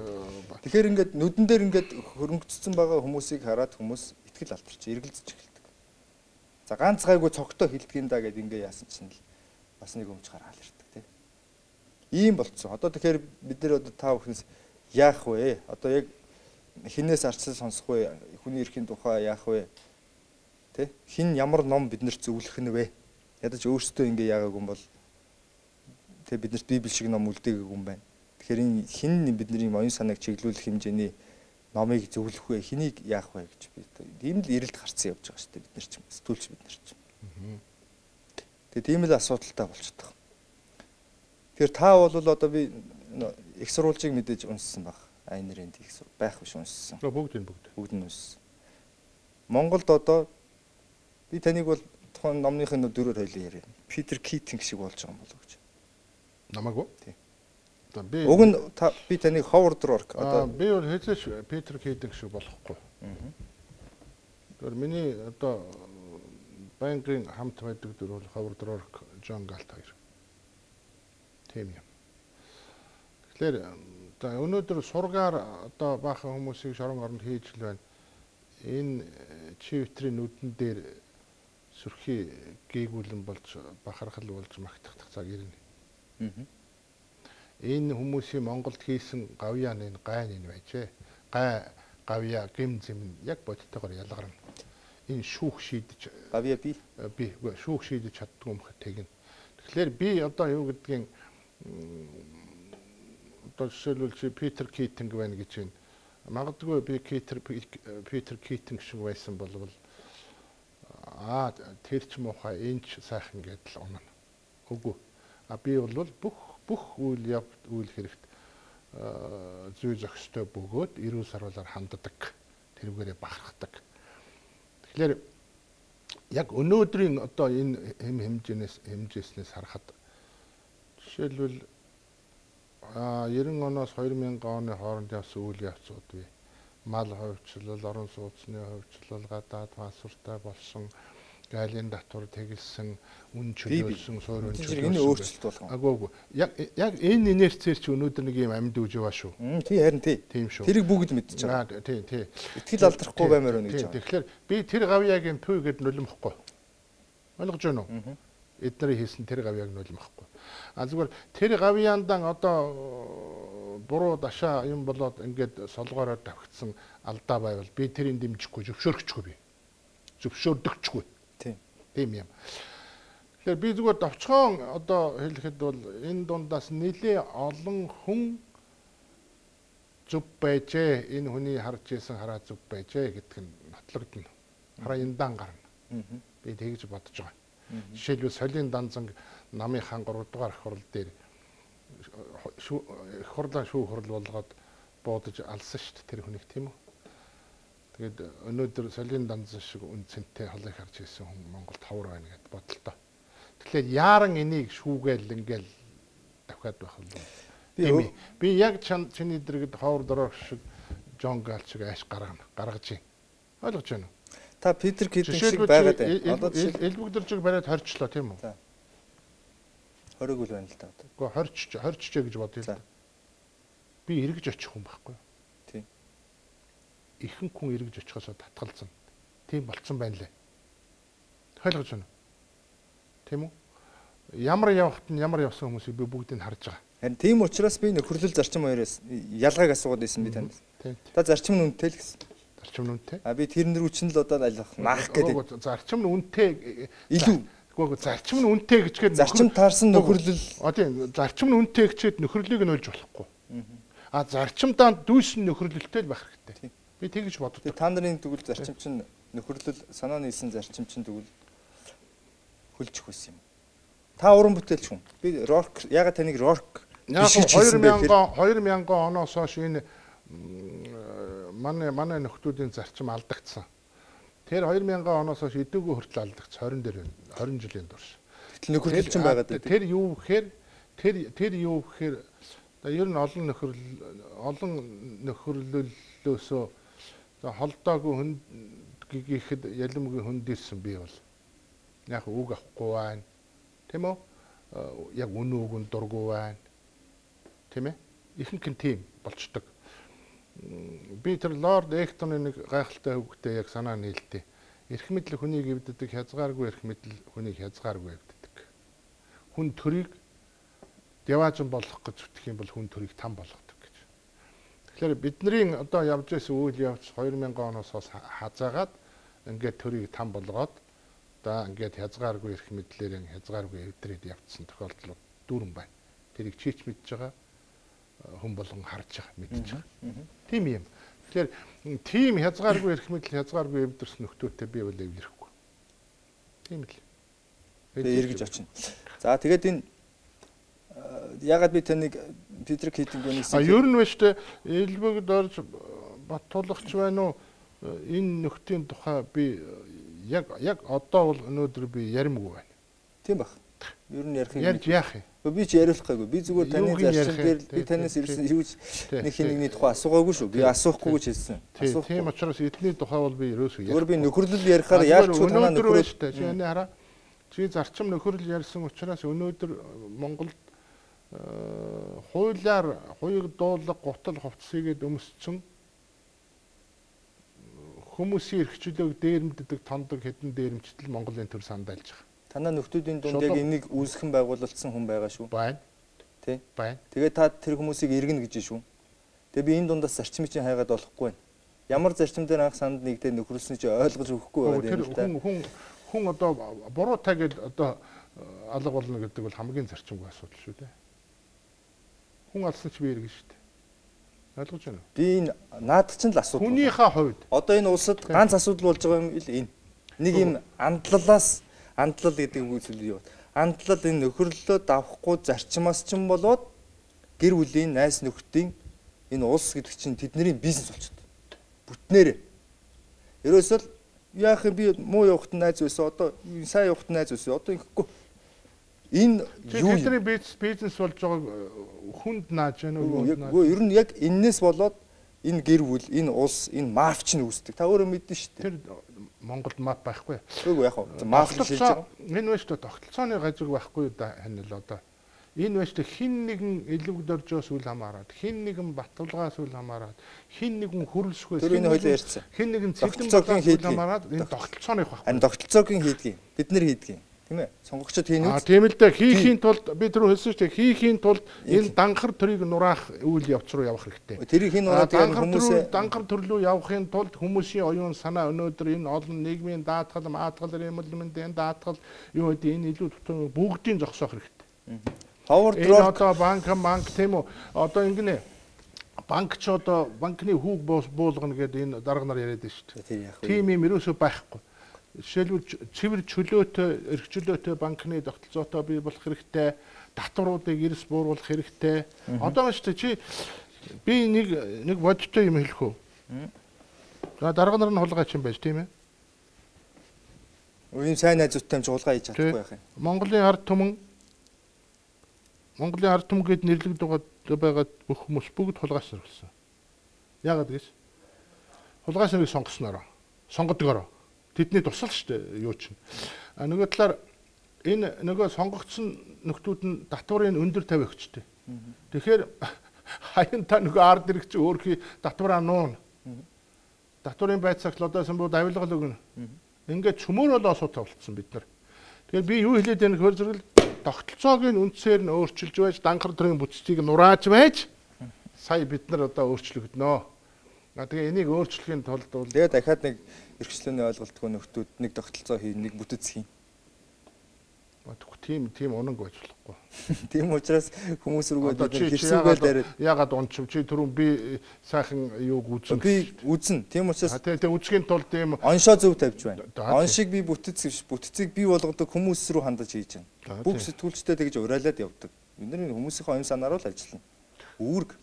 тэгэхээр ингээд нүдэн дээр ингээд хөрөнгөцсөн байгаа хүмүүсийг хараад хүмүүс итгэл алдчих, эргэлзэж эхэлдэг. За ганц гайгүй цогтой хилдэгин да гэд ингээ яасан чинь л бас нэг өмч гараал ирдэг тийм. Ийм болцсон. Одоо тэгэхээр бид нэр одоо та бүхнээс яах вэ? Одоо яг хинээс арчлал сонсох вэ? Хүний эрхийн тухай яах вэ? Тэ? Хин ямар ном биднэрт зөвлөх нь вэ? Ядаж өөрсдөө ингээ яагаагүй юм бол тэ биднэрт библи шиг ном үлдээгээгүй юм байна. Тэгэхээр энэ хин бидний оюун санааг чиглүүлэх хэмжээний номыг зөвлөх вэ? Хэнийг яах вэ гэж би тийм л эрэлт гарцсан явж байгаа шүү дээ бид нар ч сэтгүүлч бид нар ч. Тэгээ тийм л асуудалтай болчихдог. Тэгэхээр та бол одоо би их сурвалжийг мэдээж унссан баг. АН-ийн их сур байх биш унссан. бүгд нь унссан. Монголд одоо би таныг бол тухайн номныхын дөрөөр хоёлын яриа. Питер Китинг шиг болж байгаа юм болов гэж. Намаагүй? Тийм. Уг нь би таныг Ховард Рорк одоо би бол хэзээ Питер Китинг шиг болохгүй. Тэр миний одоо банкын хамт байдаг дүр бол Ховард Рорк, Джон Галт хоёр. Тийм юм. Тэгэхээр өнөөдөр сургаар одоо баахан хүмүүсийг шорон оронд хийж л байна. Энэ чивтрийн нүдэн дээр сүрхий гээгүүлэн болж бахархал болж магтах цаг ирнэ. Энэ хүмүүсийн Монголд хийсэн гавьяан энэ гайн энэ байжээ. Гай гавья гим зэм яг бодтойгоор ялгарна. Энэ шүүх шийдэж гавья би шүүх шийдэж чаддгүй юм хэ тэгнэ. Тэгэхээр би одоо юу гэдгийг Одоо жишээлбэл чи Питер Китинг байна гэж байна. Магадгүй би Питер Китинг шиг байсан болвол тэр ч муухай энэ ч сайхан гэдэл унана. Үгүй. Би бол бүх үйл хэрэгт зүй зохистой бөгөөд эрүүл сарвалаар ханддаг. Тэрүүгээрээ бахархдаг. Тэгэхээр яг өнөөдрийн одоо энэ хэмжээснээс харахад жишээлбэл 90 оноос 2000 оны хооронд явсан үйл явцуд бий. Мал хувьчлал, орон сууцны хувьчлал, гадаад пассворттай болсон, гайлын татвар тэгэлсэн, үн чөлөөлсөн, суурь үн чөлөөлсөн. Энэ өөрчлөлт болгоо. Агаагүй. Яг энэ инерцээр чи өнөөдөр нэг юм амьд үж яваа шүү. Тий харин тий. Тийм шүү. Тэрийг бүгд мэдчихэж байгаа. Тий. Итгэл алдрахгүй баймаар байна гэж байгаа. Тэгэхээр би тэр гавьяагийн пүү гэд нулимхгүй. Ойлгож байна уу? Эднэрийн хийсэн тэр гавьяаг нулимхгүй. Зүгээр тэр гавьяандан одоо буруу дашаа юм болоод ингээд солгоороо давхицсан алдаа байвал би тэрийг дэмжихгүй, зөвшөөрөхгүй би. Зөвшөөрдөгчгүй. Тийм юм. Тэгэхээр би зүгээр товчхон одоо хэлэхэд бол энэ дундаас нэлээ олон хүн зүв байжээ. Энэ хүний харж исэн хараа зүв байжээ гэдг нь нотлогдно. Хараа яндан гарна. Би тэгж бодож байгаа. Жишээлбэл Солин Данзанг намын хаан 3 дугаар ах хурал дээр хурлаа шүүх хурал болгоод буудаж алсан шүү дээ тэр хүнийг тийм үү. Тэгээд өнөөдөр Солин Данзан шиг үнцэнтэй холыг харж ирсэн хүн Монголд ховор байна гэд бодлоо. Тэгэхээр яаран энийг шүүгээл ингээл давхаад байх бол би яг чиний дэргэд ховор дөрөв шиг Жон Гал шиг ааш гаргаж байна. Ойлгож байна уу? Та Питер Китинг шиг байгаад байна. Одоо элбэгдэржиг бариад хорчлоо тийм үү? За. Хориг үл байна л та. Гэхдээ хорчжээ гэж бодъё л да. Би эргэж очих хүн байхгүй юу? Тийм. Ихэнх хүн эргэж очихоосоо татгалзсан. Тийм болцсон байна лээ. Ойлгож байна уу? Тийм үү? Ямар явахт нь ямар явсан хүмүүсийг би бүгдийг харж байгаа. Харин тийм учраас би нөхөрлөл зарчим хоёроос ялгааг асуугаад байсан би танд. Та зарчим нь үнэтэй л гэсэн. Зарчим нь үнэтэй. Би тэрнэр үчин л одоо алих маах гэдэг. Зарчим нь үнэтэй илүү. Гэхдээ зарчим нь үнэтэй гэчгээд зарчим таарсан нөхөрлөл. Тийм зарчим нь үнэтэй гэчээд нөхөрлөлийг нь олж болохгүй. Зарчимдаа дүүсэн нөхөрлөлтэй л байх хэрэгтэй. Би тэгж боддог. Та нарын тэгвэл зарчим чинь нөхөрлөл санаа нийлсэн зарчим чинь тэгвэл хөлжих байсан юм. Та уран бүтээлч хүн. Би рок ягаад таныг рок 2000 оноос хойш энэ манай нөхдүүдийн зарчим алдагдсан. Тэр 2000 оноос хойш эдүүгөө хүртэл алдагдсан 20 жилийн турш. Гэтэл нөхөрлөл чинь байгаад байна. Тэр юу гэхээр ер нь олон нөхөрлөлөөсөө холдоогүй хүн гэхэд ялмгийн хүнд ирсэн би бол яг үг авахгүй байна. Тийм үү? Яг үнүүг нь дургүй байна. Тийм ээ? Ихэнх нь тийм болчдөг. Би тэр Лорд Эктоны нэг гайхалтай хөвгтэй яг санаа нийлтээ. Эрх мэдэл хүнийг эвддэг, хязгааргүй эрх мэдэл хүнийг хязгааргүй эвддэг. Хүн төрийг яваажин болгох гэж зүтгэх юм бол хүн төрийг там болгодог гэж. Тэгэхээр бидний одоо явж байсан үйл явц 2000 оноос хазаагаад ингээд төрийг там болгоод одоо ингээд хязгааргүй эрх мэдлээр хязгааргүй эвдрээд явцсан тохиолдлууд дүүрэн байна. Тэрийг чийч мэдж байгаа хүн болгон харж байгаа, мэдж байгаа. Тийм юм. Тэгэхээр тийм хязгааргүй эрх мэдэл, хязгааргүй эвдэрсэн нөхдөөтэй би бол эвлэрэхгүй. Тийм л. Тэгээ эргэж очино. За тэгээд энэ ягаад би таныг Питер Китинг нэгсэн. Ер нь байж тээ элбэгд орж Баттуулагч байна уу? Энэ нөхдийн тухай би яг одоо бол өнөөдөр би яримгүй байна. Тийм баг. Ер нь ярих юм. Ярьж яах юм? Би ч яриулахгүй. Би зүгээр таны зарчим дээр би танаас ирсэн юу нэг хинэгний тухай асуугаагүй шүү. Би асуухгүй гэж хэлсэн. Тийм учраас эдний тухай бол би ерөөсөө ярихгүй. Зүгээр би нөхөрлөл ярихаар яалч танаа нөхөрлөл. Чи хараа. Чи зарчим нөхөрлөл ярьсан учраас өнөөдөр Монголд хуулиар хуйг дуулга гутал хувцсыгээд өмссөн хүмүүсийн эрхчлөөг дээрэмддэг тондог хэдэн дээрэмчтэл Монголын төр сандайлж байгаа. Танаа нөхдүүдийн дунд яг энийг үүсгэн байгуулалтсан хүн байгаа шүү. Байна. Тий? Байна. Тэгээд та тэр хүмүүсийг иргэнэ гэж шүү. Тэгээд би энэ дундаас зарчмыг чинь хайгаад болохгүй байна. Ямар зарчим дээр анх санд нэгдээ нөхөрлөсний чинь ойлгож өгөхгүй байгаа юм л та. Хүн одоо буруутай гэж одоо алга болно гэдэг бол хамгийн зарчимгүй асуудал шүү дээ. хүн алсан ч би иргэн шүү дээ. Ойлгож байна уу? Би энэ наад чинь л асуудал. Хүнийхээ хувьд Одоо энэ улсад ганц асуудал болж байгаа юм ил энэ. Нэг юм андлал гэдэг үгсэл юу? Андлал энэ нөхөрлөлөө давхгүй зарчмаас ч юм болоод гэр бүлийн найс нөхдийн энэ улс гэдэг чинь тэдний бизнес болчиход. Бүтнээрээ. Ерөөсөө яах юм би муу явахт найз байсан. Одоо сайн явахт найз байсан. Одоо ингэхгүй. Энэ юу тэдний бизнес болж байгааг хүнд нааж байна уу? Үгүй ер нь яг энээс болоод энэ гэр бүл, энэ улс, энэ мафч нь үүсдэг. Та өөрөө мэднэ шүү дээ. Тэр Монголд маф байхгүй. Үгүй яг хөө маф шилж байгаа. Энэ байж та тогтолцооны гажиг байхгүй да ханил одоо. Энэ байж та хин нэгэн элвэгдөржөөс үл хамааран, хин нэгэн баталгаас үл хамааран, хин нэгэн хөрөлсөхөөс энэ хоёлоо ярьсан. Хин нэгэн цэцэн үл хамааран энэ тогтолцооны байхгүй. Харин тогтолцоогийн хийдгийг бид нэр хийдгийг. Тийм ээ. Сонгогчдод хийн үү? Тийм л дээ. Хийхийн тулд би тэр хэлсэн шүү дээ. Хийхийн тулд энэ данхар төрийг нураах үйл явц руу явах хэрэгтэй. Тэрийг хийн нураад хүмүүсээ данхар төрлөө явахын тулд хүмүүсийн оюун санаа өнөөдөр энэ олон нийгмийн даатгал, маатгал, эмэлмэндийн даатгал юу гэдэг энэ илүү бүгдийн зогсоох хэрэгтэй. Ховор дрор одоо банк тийм үү? Одоо ингэнэ. Банкч одоо банкны хүүг буулгана гэдэг энэ дарга нар яриад байна шүү дээ. Тийм юм ерөөсөө байхгүй. Жишээлбэл цэвэр чөлөөтэй, эрхчлөөтэй банкны тогтолцоотой бий болох хэрэгтэй, татваруудыг эрс бууруулах хэрэгтэй. Одоо маш чи би нэг бодтой юм хэлэх үү? За дарга нар нь хулгайч юм байж тийм ээ. Үгүй сайн найзуудтай хулгай хийж чадахгүй байх юм. Монголын ард түмэн гэд нэрлэгдэж байгаа бүх хүмүүс бүгд хулгайч нар болсон. Яагаад гэж? Хулгайч нарыг сонгодгоороо. Тэдний тусал шүү дээ юу чинь. Нөгөө талаар энэ нөгөө сонгогдсон нөхдүүд нь татварын өндөр тавь өгчтэй. Тэгэхээр хаян та нөгөө ард ирэх чи өөрхий татвараа нуун. Татварын байцаагт одоо самбууд авилгал өгнө. Ингээд чөмөр болоо асуудал болцсон бид нар. Тэгэхээр би юу хэлээд байна гэхээр зэрэг тогтолцоогийн үндсээр нь өөрчилж байж данхар төрийн бүтцийг нурааж байж сая бид нар одоо өөрчлөгдөнө. Тэгээ энийг өөрчлөхийн тулд бол тэгээ дахиад нэг эрхчлөөний ойлголтгүй нөхдүүд нэг тогтолцоо хийн, нэг бүтэц хийн. Тийм унанг байж болохгүй. Тийм учраас хүмүүс рүүгээ хэрсүүгээр дараад ягаад унчив чи түрүүн би сайхан юуг үзэн. Би үзэн. Тийм учраас тэгээ үзхийн тулд ийм оншоо зөв тавьж байна. Оншиг би бүтцийг бий болгодог хүмүүс рүү хандаж хийж байна. Бүх сэтгүүлчтэй тэгж урайлаад явдаг. Бид нар хүмүүсийн оюун санаар л ажиллана. Үүрэг.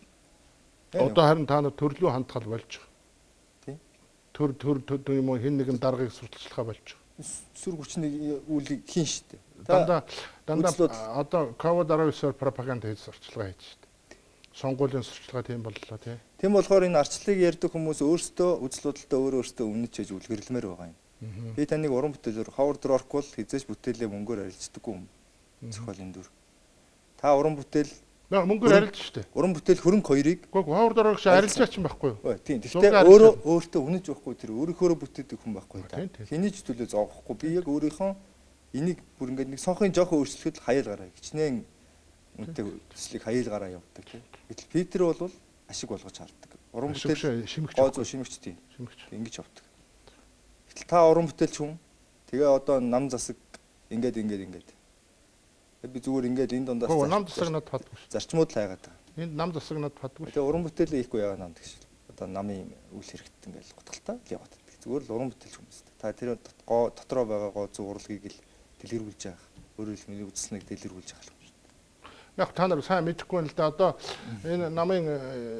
Одоо харин та нар төрлөө хандхал болж байгаа. Төр юм уу хэн нэгэн даргаыг сурталчлахаа болж байгаа. Сүр хүчний үйлийг хийн штэ. Дандаа одоо COVID-19-оор пропаганда хийж сурталчилгаа хийж штэ. Сонгуулийн сурталчилгаа тийм боллоо тий. Тийм болохоор энэ арчлыг ярьдаг хүмүүс өөрсдөө үзэл бодолтой өөрөөсөө үнэж хийж үлгэрлэмээр байгаа юм. Би таныг уран бүтээлээр ховор дрорк бол хизээж бүтээлээ мөнгөөр арилждаггүй юм. Зохиолын дүр. Та уран бүтээл мөнгөөр арилж штэ. Уран бүтээл хөрөнгө хоёрыг ховор дрорк ш арилжаач юм байхгүй юу? Тийм. Гэхдээ өөртөө үнэж байхгүй тэр өөрийнхөө бүтээдэг хүн байхгүй та. Хэний ч төлөө зоогохгүй. Би яг өөрийнхөө энийг бүр ингээд нэг сонхын жоохон өөрчлөхөд хаяал гараа. Хичнээн үнэтэй төслийг хаяал гараа явуулдаг тийм. Гэтэл Питер бол ашиг болгож хардаг. Уран бүтээл шимэгч тийм. Ингэж явдаг. Гэтэл та уран бүтээлч хүн тэгээ одоо нам засаг ингээд би зүгээр ингээд энэ дундаас нам засаг надад фадгүй. Зарчмууд л хайгаад байгаа. Энд нам засаг надад фадгүй. Тэгээ уран бүтээлээ хийхгүй яагаад намд гэж. Одоо намын үйл хэрэгт ингээд гутгалтай л яваад байдаг. Зүгээр л уран бүтээлч хүмүүс. Та тэр дотроо байгаа гоо зүг урлагийг л дэлгэрүүлж байгаа. Өөрөөр хэлбэл үзснэг дэлгэрүүлж байгаа юм шүү дээ. Яг та нар сайн мэдэхгүй юм л да. Одоо энэ намын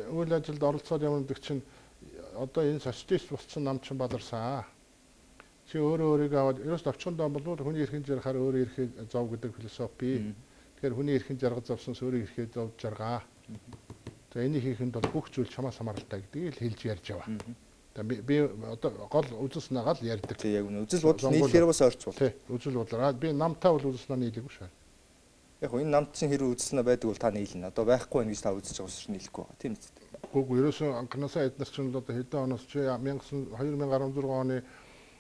үйл ажилд оролцоод явдаг чинь одоо энэ социалист болсон нам чинь баларсан. Чи өөрийгөө аваад ерөөс товчхондоо болвол хүний эрхийн жаргахаар өөрөө эрхээ зов гэдэг философи. Тэгэхээр хүний эрхийн жаргал зовсонс өөрөө эрхээ зовж жаргаа. За энийг хийхэд бол бүх зүйл чамаас хамааралтай гэдгийг л хэлж ярьж яваа. Би одоо гол үзэл санаагаа л ярьдаг. Тэг яг үнэ. Үзэл бодол нийлэхээр бас орч бол. Тий, үзэл бодлоо. Би намтай бол үзэл санаа нийлээгүй шээ. Яг энэ намд чинь хэрэг үзэл санаа байдаг бол та нийлнэ. Одоо байхгүй байх гэж та үзэж байгаа учраас нийлэхгүй байгаа. Тийм үү? Гүг ерөөсөн анханасаа эднес чинь одоо хэдэн оноос чи 2016 оны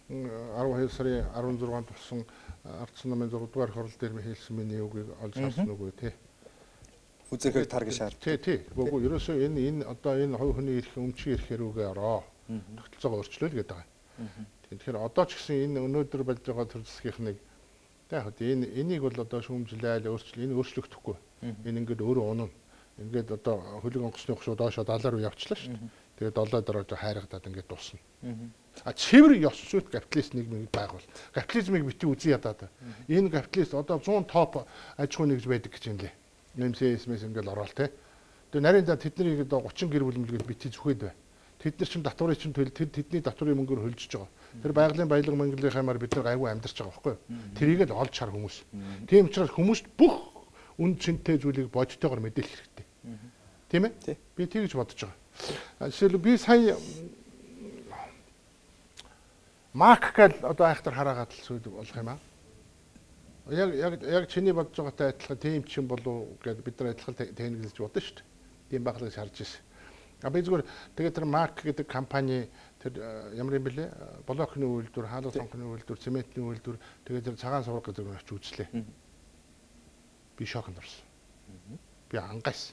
12 сарын 16-нд болсон ардсан намын 6 дугаар хурал дээр хэлсэн миний үгийг олж харсан үгүй тий. Үзэхээр таргаж шаар. Тий. Гүг ерөөсөн энэ одоо энэ хувь хүний эрх өмчийн эрхээр үгээ ороо. Тогтолцоогоо өөрчлөөл гэдэг байгаа. Тэгэхээр одоо ч гэсэн энэ өнөөдөр болж байгаа төр засгийнхныг яг энийг бол одоо шүүмжлээл энэ өөрчлөгдөхгүй. Энэ ингээд өөрөө унана. Ингээд одоо хөлөг онгоцны хушуу доошоо 70 руу явчлаа шүү дээ. Тэгээд 7 дөрөж хайрагдаад ингээд дуусна. А цэвэр ёс зүйт капиталист нийгмийг байгуул. Капитализмыг бити үзье ядаад. Энэ капиталист одоо 100 топ аж ахуй нэгж байдаг гэж юм лээ. МСС-мэс ингээд ороод те. Тэгээд нарийн да тэднийг одоо 30 гэр бүл мэлгээд бити зүхэд бай. Тэд нар чинь татварыг чинь тэдний татварын мөнгөөр хөлжиж байгаа. Тэр байгалийн баялаг мөнгөлийн хаймаар бид нар айгүй амьдарч байгаа байхгүй юу? Тэрийг л олж чар хүмүүс. Тийм учраас хүмүүст бүх үн цэнтэй зүйлийг бодтойгоор мэдээлэх хэрэгтэй. Тийм ээ? Би тэгж бодож байгаа. Жишээл би сая Мак гэл одоо айхтар хараагаад л зүйл болох юм аа. Яг чиний бодож байгаатай адилхан тийм ч юм болов гэд бид нар адилхан техникэлж бодно шүү дээ. Тийм баглаж харж ирсэн. А би зүгээр тэгээд тэр Мак гэдэг компани тэр ямар юм бэлээ? Блокны үйлдвэр, хаалга цонхны үйлдвэр, цементний үйлдвэр тэгээд тэр цагаан сувраг гэдэг нь очиж үзлээ. Би шокнд орсон. Би ангайсан.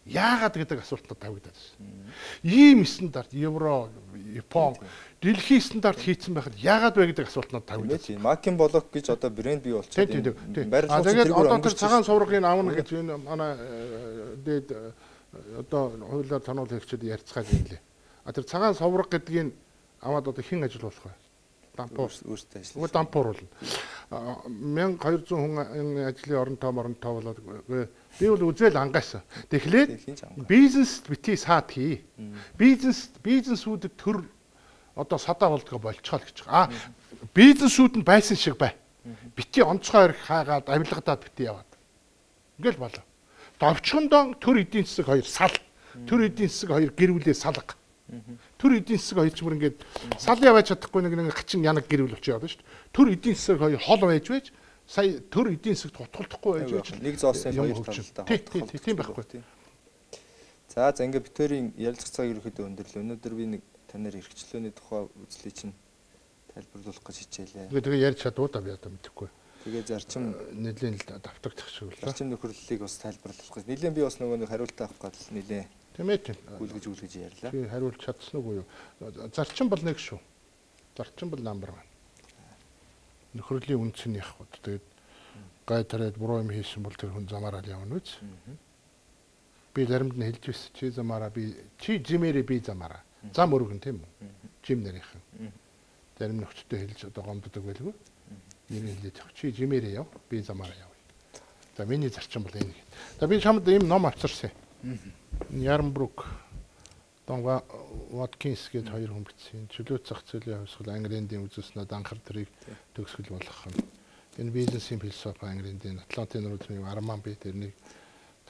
Яагаад гэдэг асуултад тавигдаад байна. Ийм стандарт Евро, Япон, дэлхийн стандарт хийцэн байхад яагаад вэ гэдэг асуултад тавигдаад байна. Макин блок гэж одоо брэнд бий болчиход байна. Тэгээд одоо тэр цагаан суврагыг авна гэж энэ манай дээд одоо хуулиар тануул хэрэгчид ярьцгааж байна лээ. А тэр цагаан сувраг гэдгийг аваад одоо хэн ажиллуулах вэ? Дампуур өөртөө ажиллах. Дампуур болно. 1200 хүн ажлын оронтой болоод би бол үзэл ангайсан. Тэгэхээр бизнест бити саад хий. Бизнесүүдэд төр одоо садаа болдгоо болчихоо л гэж. Бизнесүүд нь байсан шиг бай. Бити онцгой ирэх хаагаад авилгадаад бити яваад. Ингээл болоо. Довчхондоо төр эдийн засаг 2 сал. Төр эдийн засаг 2 гэрүүлээ салга. Төр эдийн засаг 2 ч бүр ингээд сал яваач чадахгүй нэг хачин янаг гэрүүл очиж яваад шүү дээ. Төр эдийн засаг 2 хол байж сая төр эдийн засагт утгалдахгүй байж нэг зоосын 2 талдаа тийм байхгүй. За ингээ битүүрийн ярилцах цаг ерөөхдөө өндөрлөө. Өнөөдөр би нэг танаар эрхчлөөний тухай үзлий чинь тайлбарлуулах гэж хичээлээ. Тэгээ ярьж чадвал та би одоо мэдэхгүй. Тэгээ зарчим нэлийн давтагдах шиг л. Зарчим нөхөрлөлийг бас тайлбарлах гэж. Нэлийн би бас нөгөө нэг хариулт авах гал нэлээ. Тийм ээ. Гүйлгэж ярьлаа. Би хариулж чадсан уу юу? Зарчим бол нэг шүү. Зарчим бол номер 1. Нөхрөлийн үнц нь явах бод. Тэгээд гай тараад буруу юм хийсэн бол тэр хүн замаараа явна үз. Би заримд нь хэлж байсан. Чи замаараа би чи жимээрээ би замаараа. Зам өргөн тийм үү? Жим нарийнхан. Зарим нөхцөлтэй хэлж одоо гомддог байлгүй. Нэрийг хэлээд явах. Чи жимээрээ яв. Би замаараа явъя. За миний зарчим бол энэ. За би чамд ийм ном авчирсан. Ярмбрук Дон Ваткинс гээд хоёр хүн бичсэн. Чөлөө зах зээлийн хувьсгал Англи эндийн үзүүлснээр анхаар тэрийг төгсгөл болгох нь. Энэ бизнесийн философи Англи эндийн Атлантын нурууны Арман би тэрнийг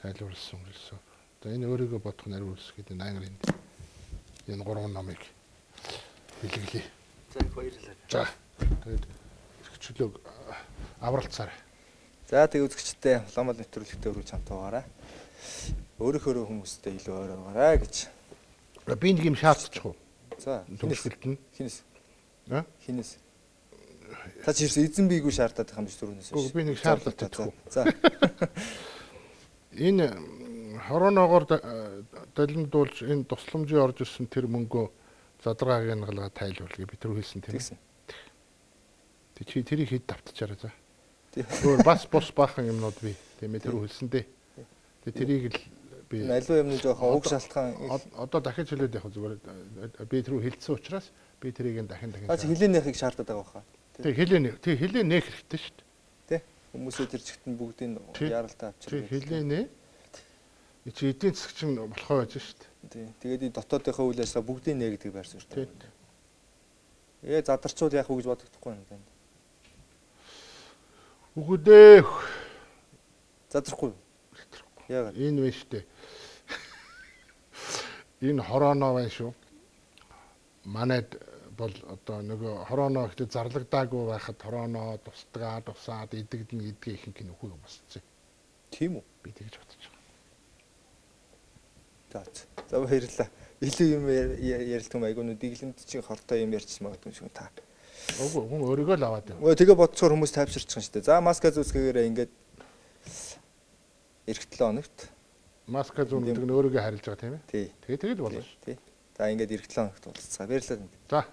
тайлбарласан философи. За энэ өөрийгөө бодох нариу үлс гэдэг энэ Англи энд энэ 3 номыг бэлгэлээ. За баярлалаа. За тэгээд чөлөөг авралцаарай. За тэг үзэгчтэй уламжлалт нэвтрүүлэгтээ өргөж хамтаагаарай. Өөрөөхөө хүмүүстэй илүү ойр байгаарай гэж. Би нэг юм шаардчих уу? За төгсгөлт нь хинээс? Аа? Хинээс? Та чи эзэн бийгүй шаардаад байгаа юм биш түрүүнээс. Үгүй би нэг шаардлагатай төгөө. За. Энэ хороноогоор далимдуулж энэ тусламжийн орж ирсэн тэр мөнгөө задрааг янгалгаа тайлбарлая. Би тэр хэлсэн тийм. Тэг чи тэрийг хэд давтчаарай за. Өөр бас бус баахан юмнууд би тийм ээ тэр хэлсэн дээ. Тэг тэрийг л би аливаа юмны жоохон уг шалтгаан одоо дахиж хэлээд явах зүгээр би тэр хэлсэн учраас би тэрийг дахин чи хилээнийхийг шаардаад байгаа баха. Тэг хилээ нээх хэрэгтэй шүү дээ. Тэ хүмүүсээ тэр чигтэн бүгдийг яаралтай авчирдаг. Тэг хилээнэ чи эдийн засаг чинь болохоо байж шүү дээ. Тий. Тэгээд дотоодынхаа үйл ажиллагаа бүгдийг нэ гэдэг байр суурьтай. Задарчвал яах вэ гэж бодогдохгүй юм танд. Үгүй дээ. Задрахгүй. Яагаад? Энэ вэ штэ. Энэ хороноо байна шүү. Манайд бол одоо нөгөө хороноо ихтэй зарлагдаагүй байхад хороноо тусаад идэгдэн гэдгийг ихэнх нь үгүй босцсон. Тийм үү? Би тэгж бодож байгаа. За баярлалаа. Илүү юм ярилцсан айгуу дэглэмт чинь хортой юм ярьчих магадгүй шүү та. Үгүй хүн өөрийгөө л аваад байна. Тэгээ бодцоор хүмүүс тайвширчих шүү дээ. За маска зүүсгээрээ ингээд эх 7 хоногт маска зүүн гэдэг нь өөрийгөө харилж байгаа тийм ээ. Тий. Тэгээд болно шүү. Тий. За ингээд эх 7 хоногт уулзцаа. Баярлалаа. За.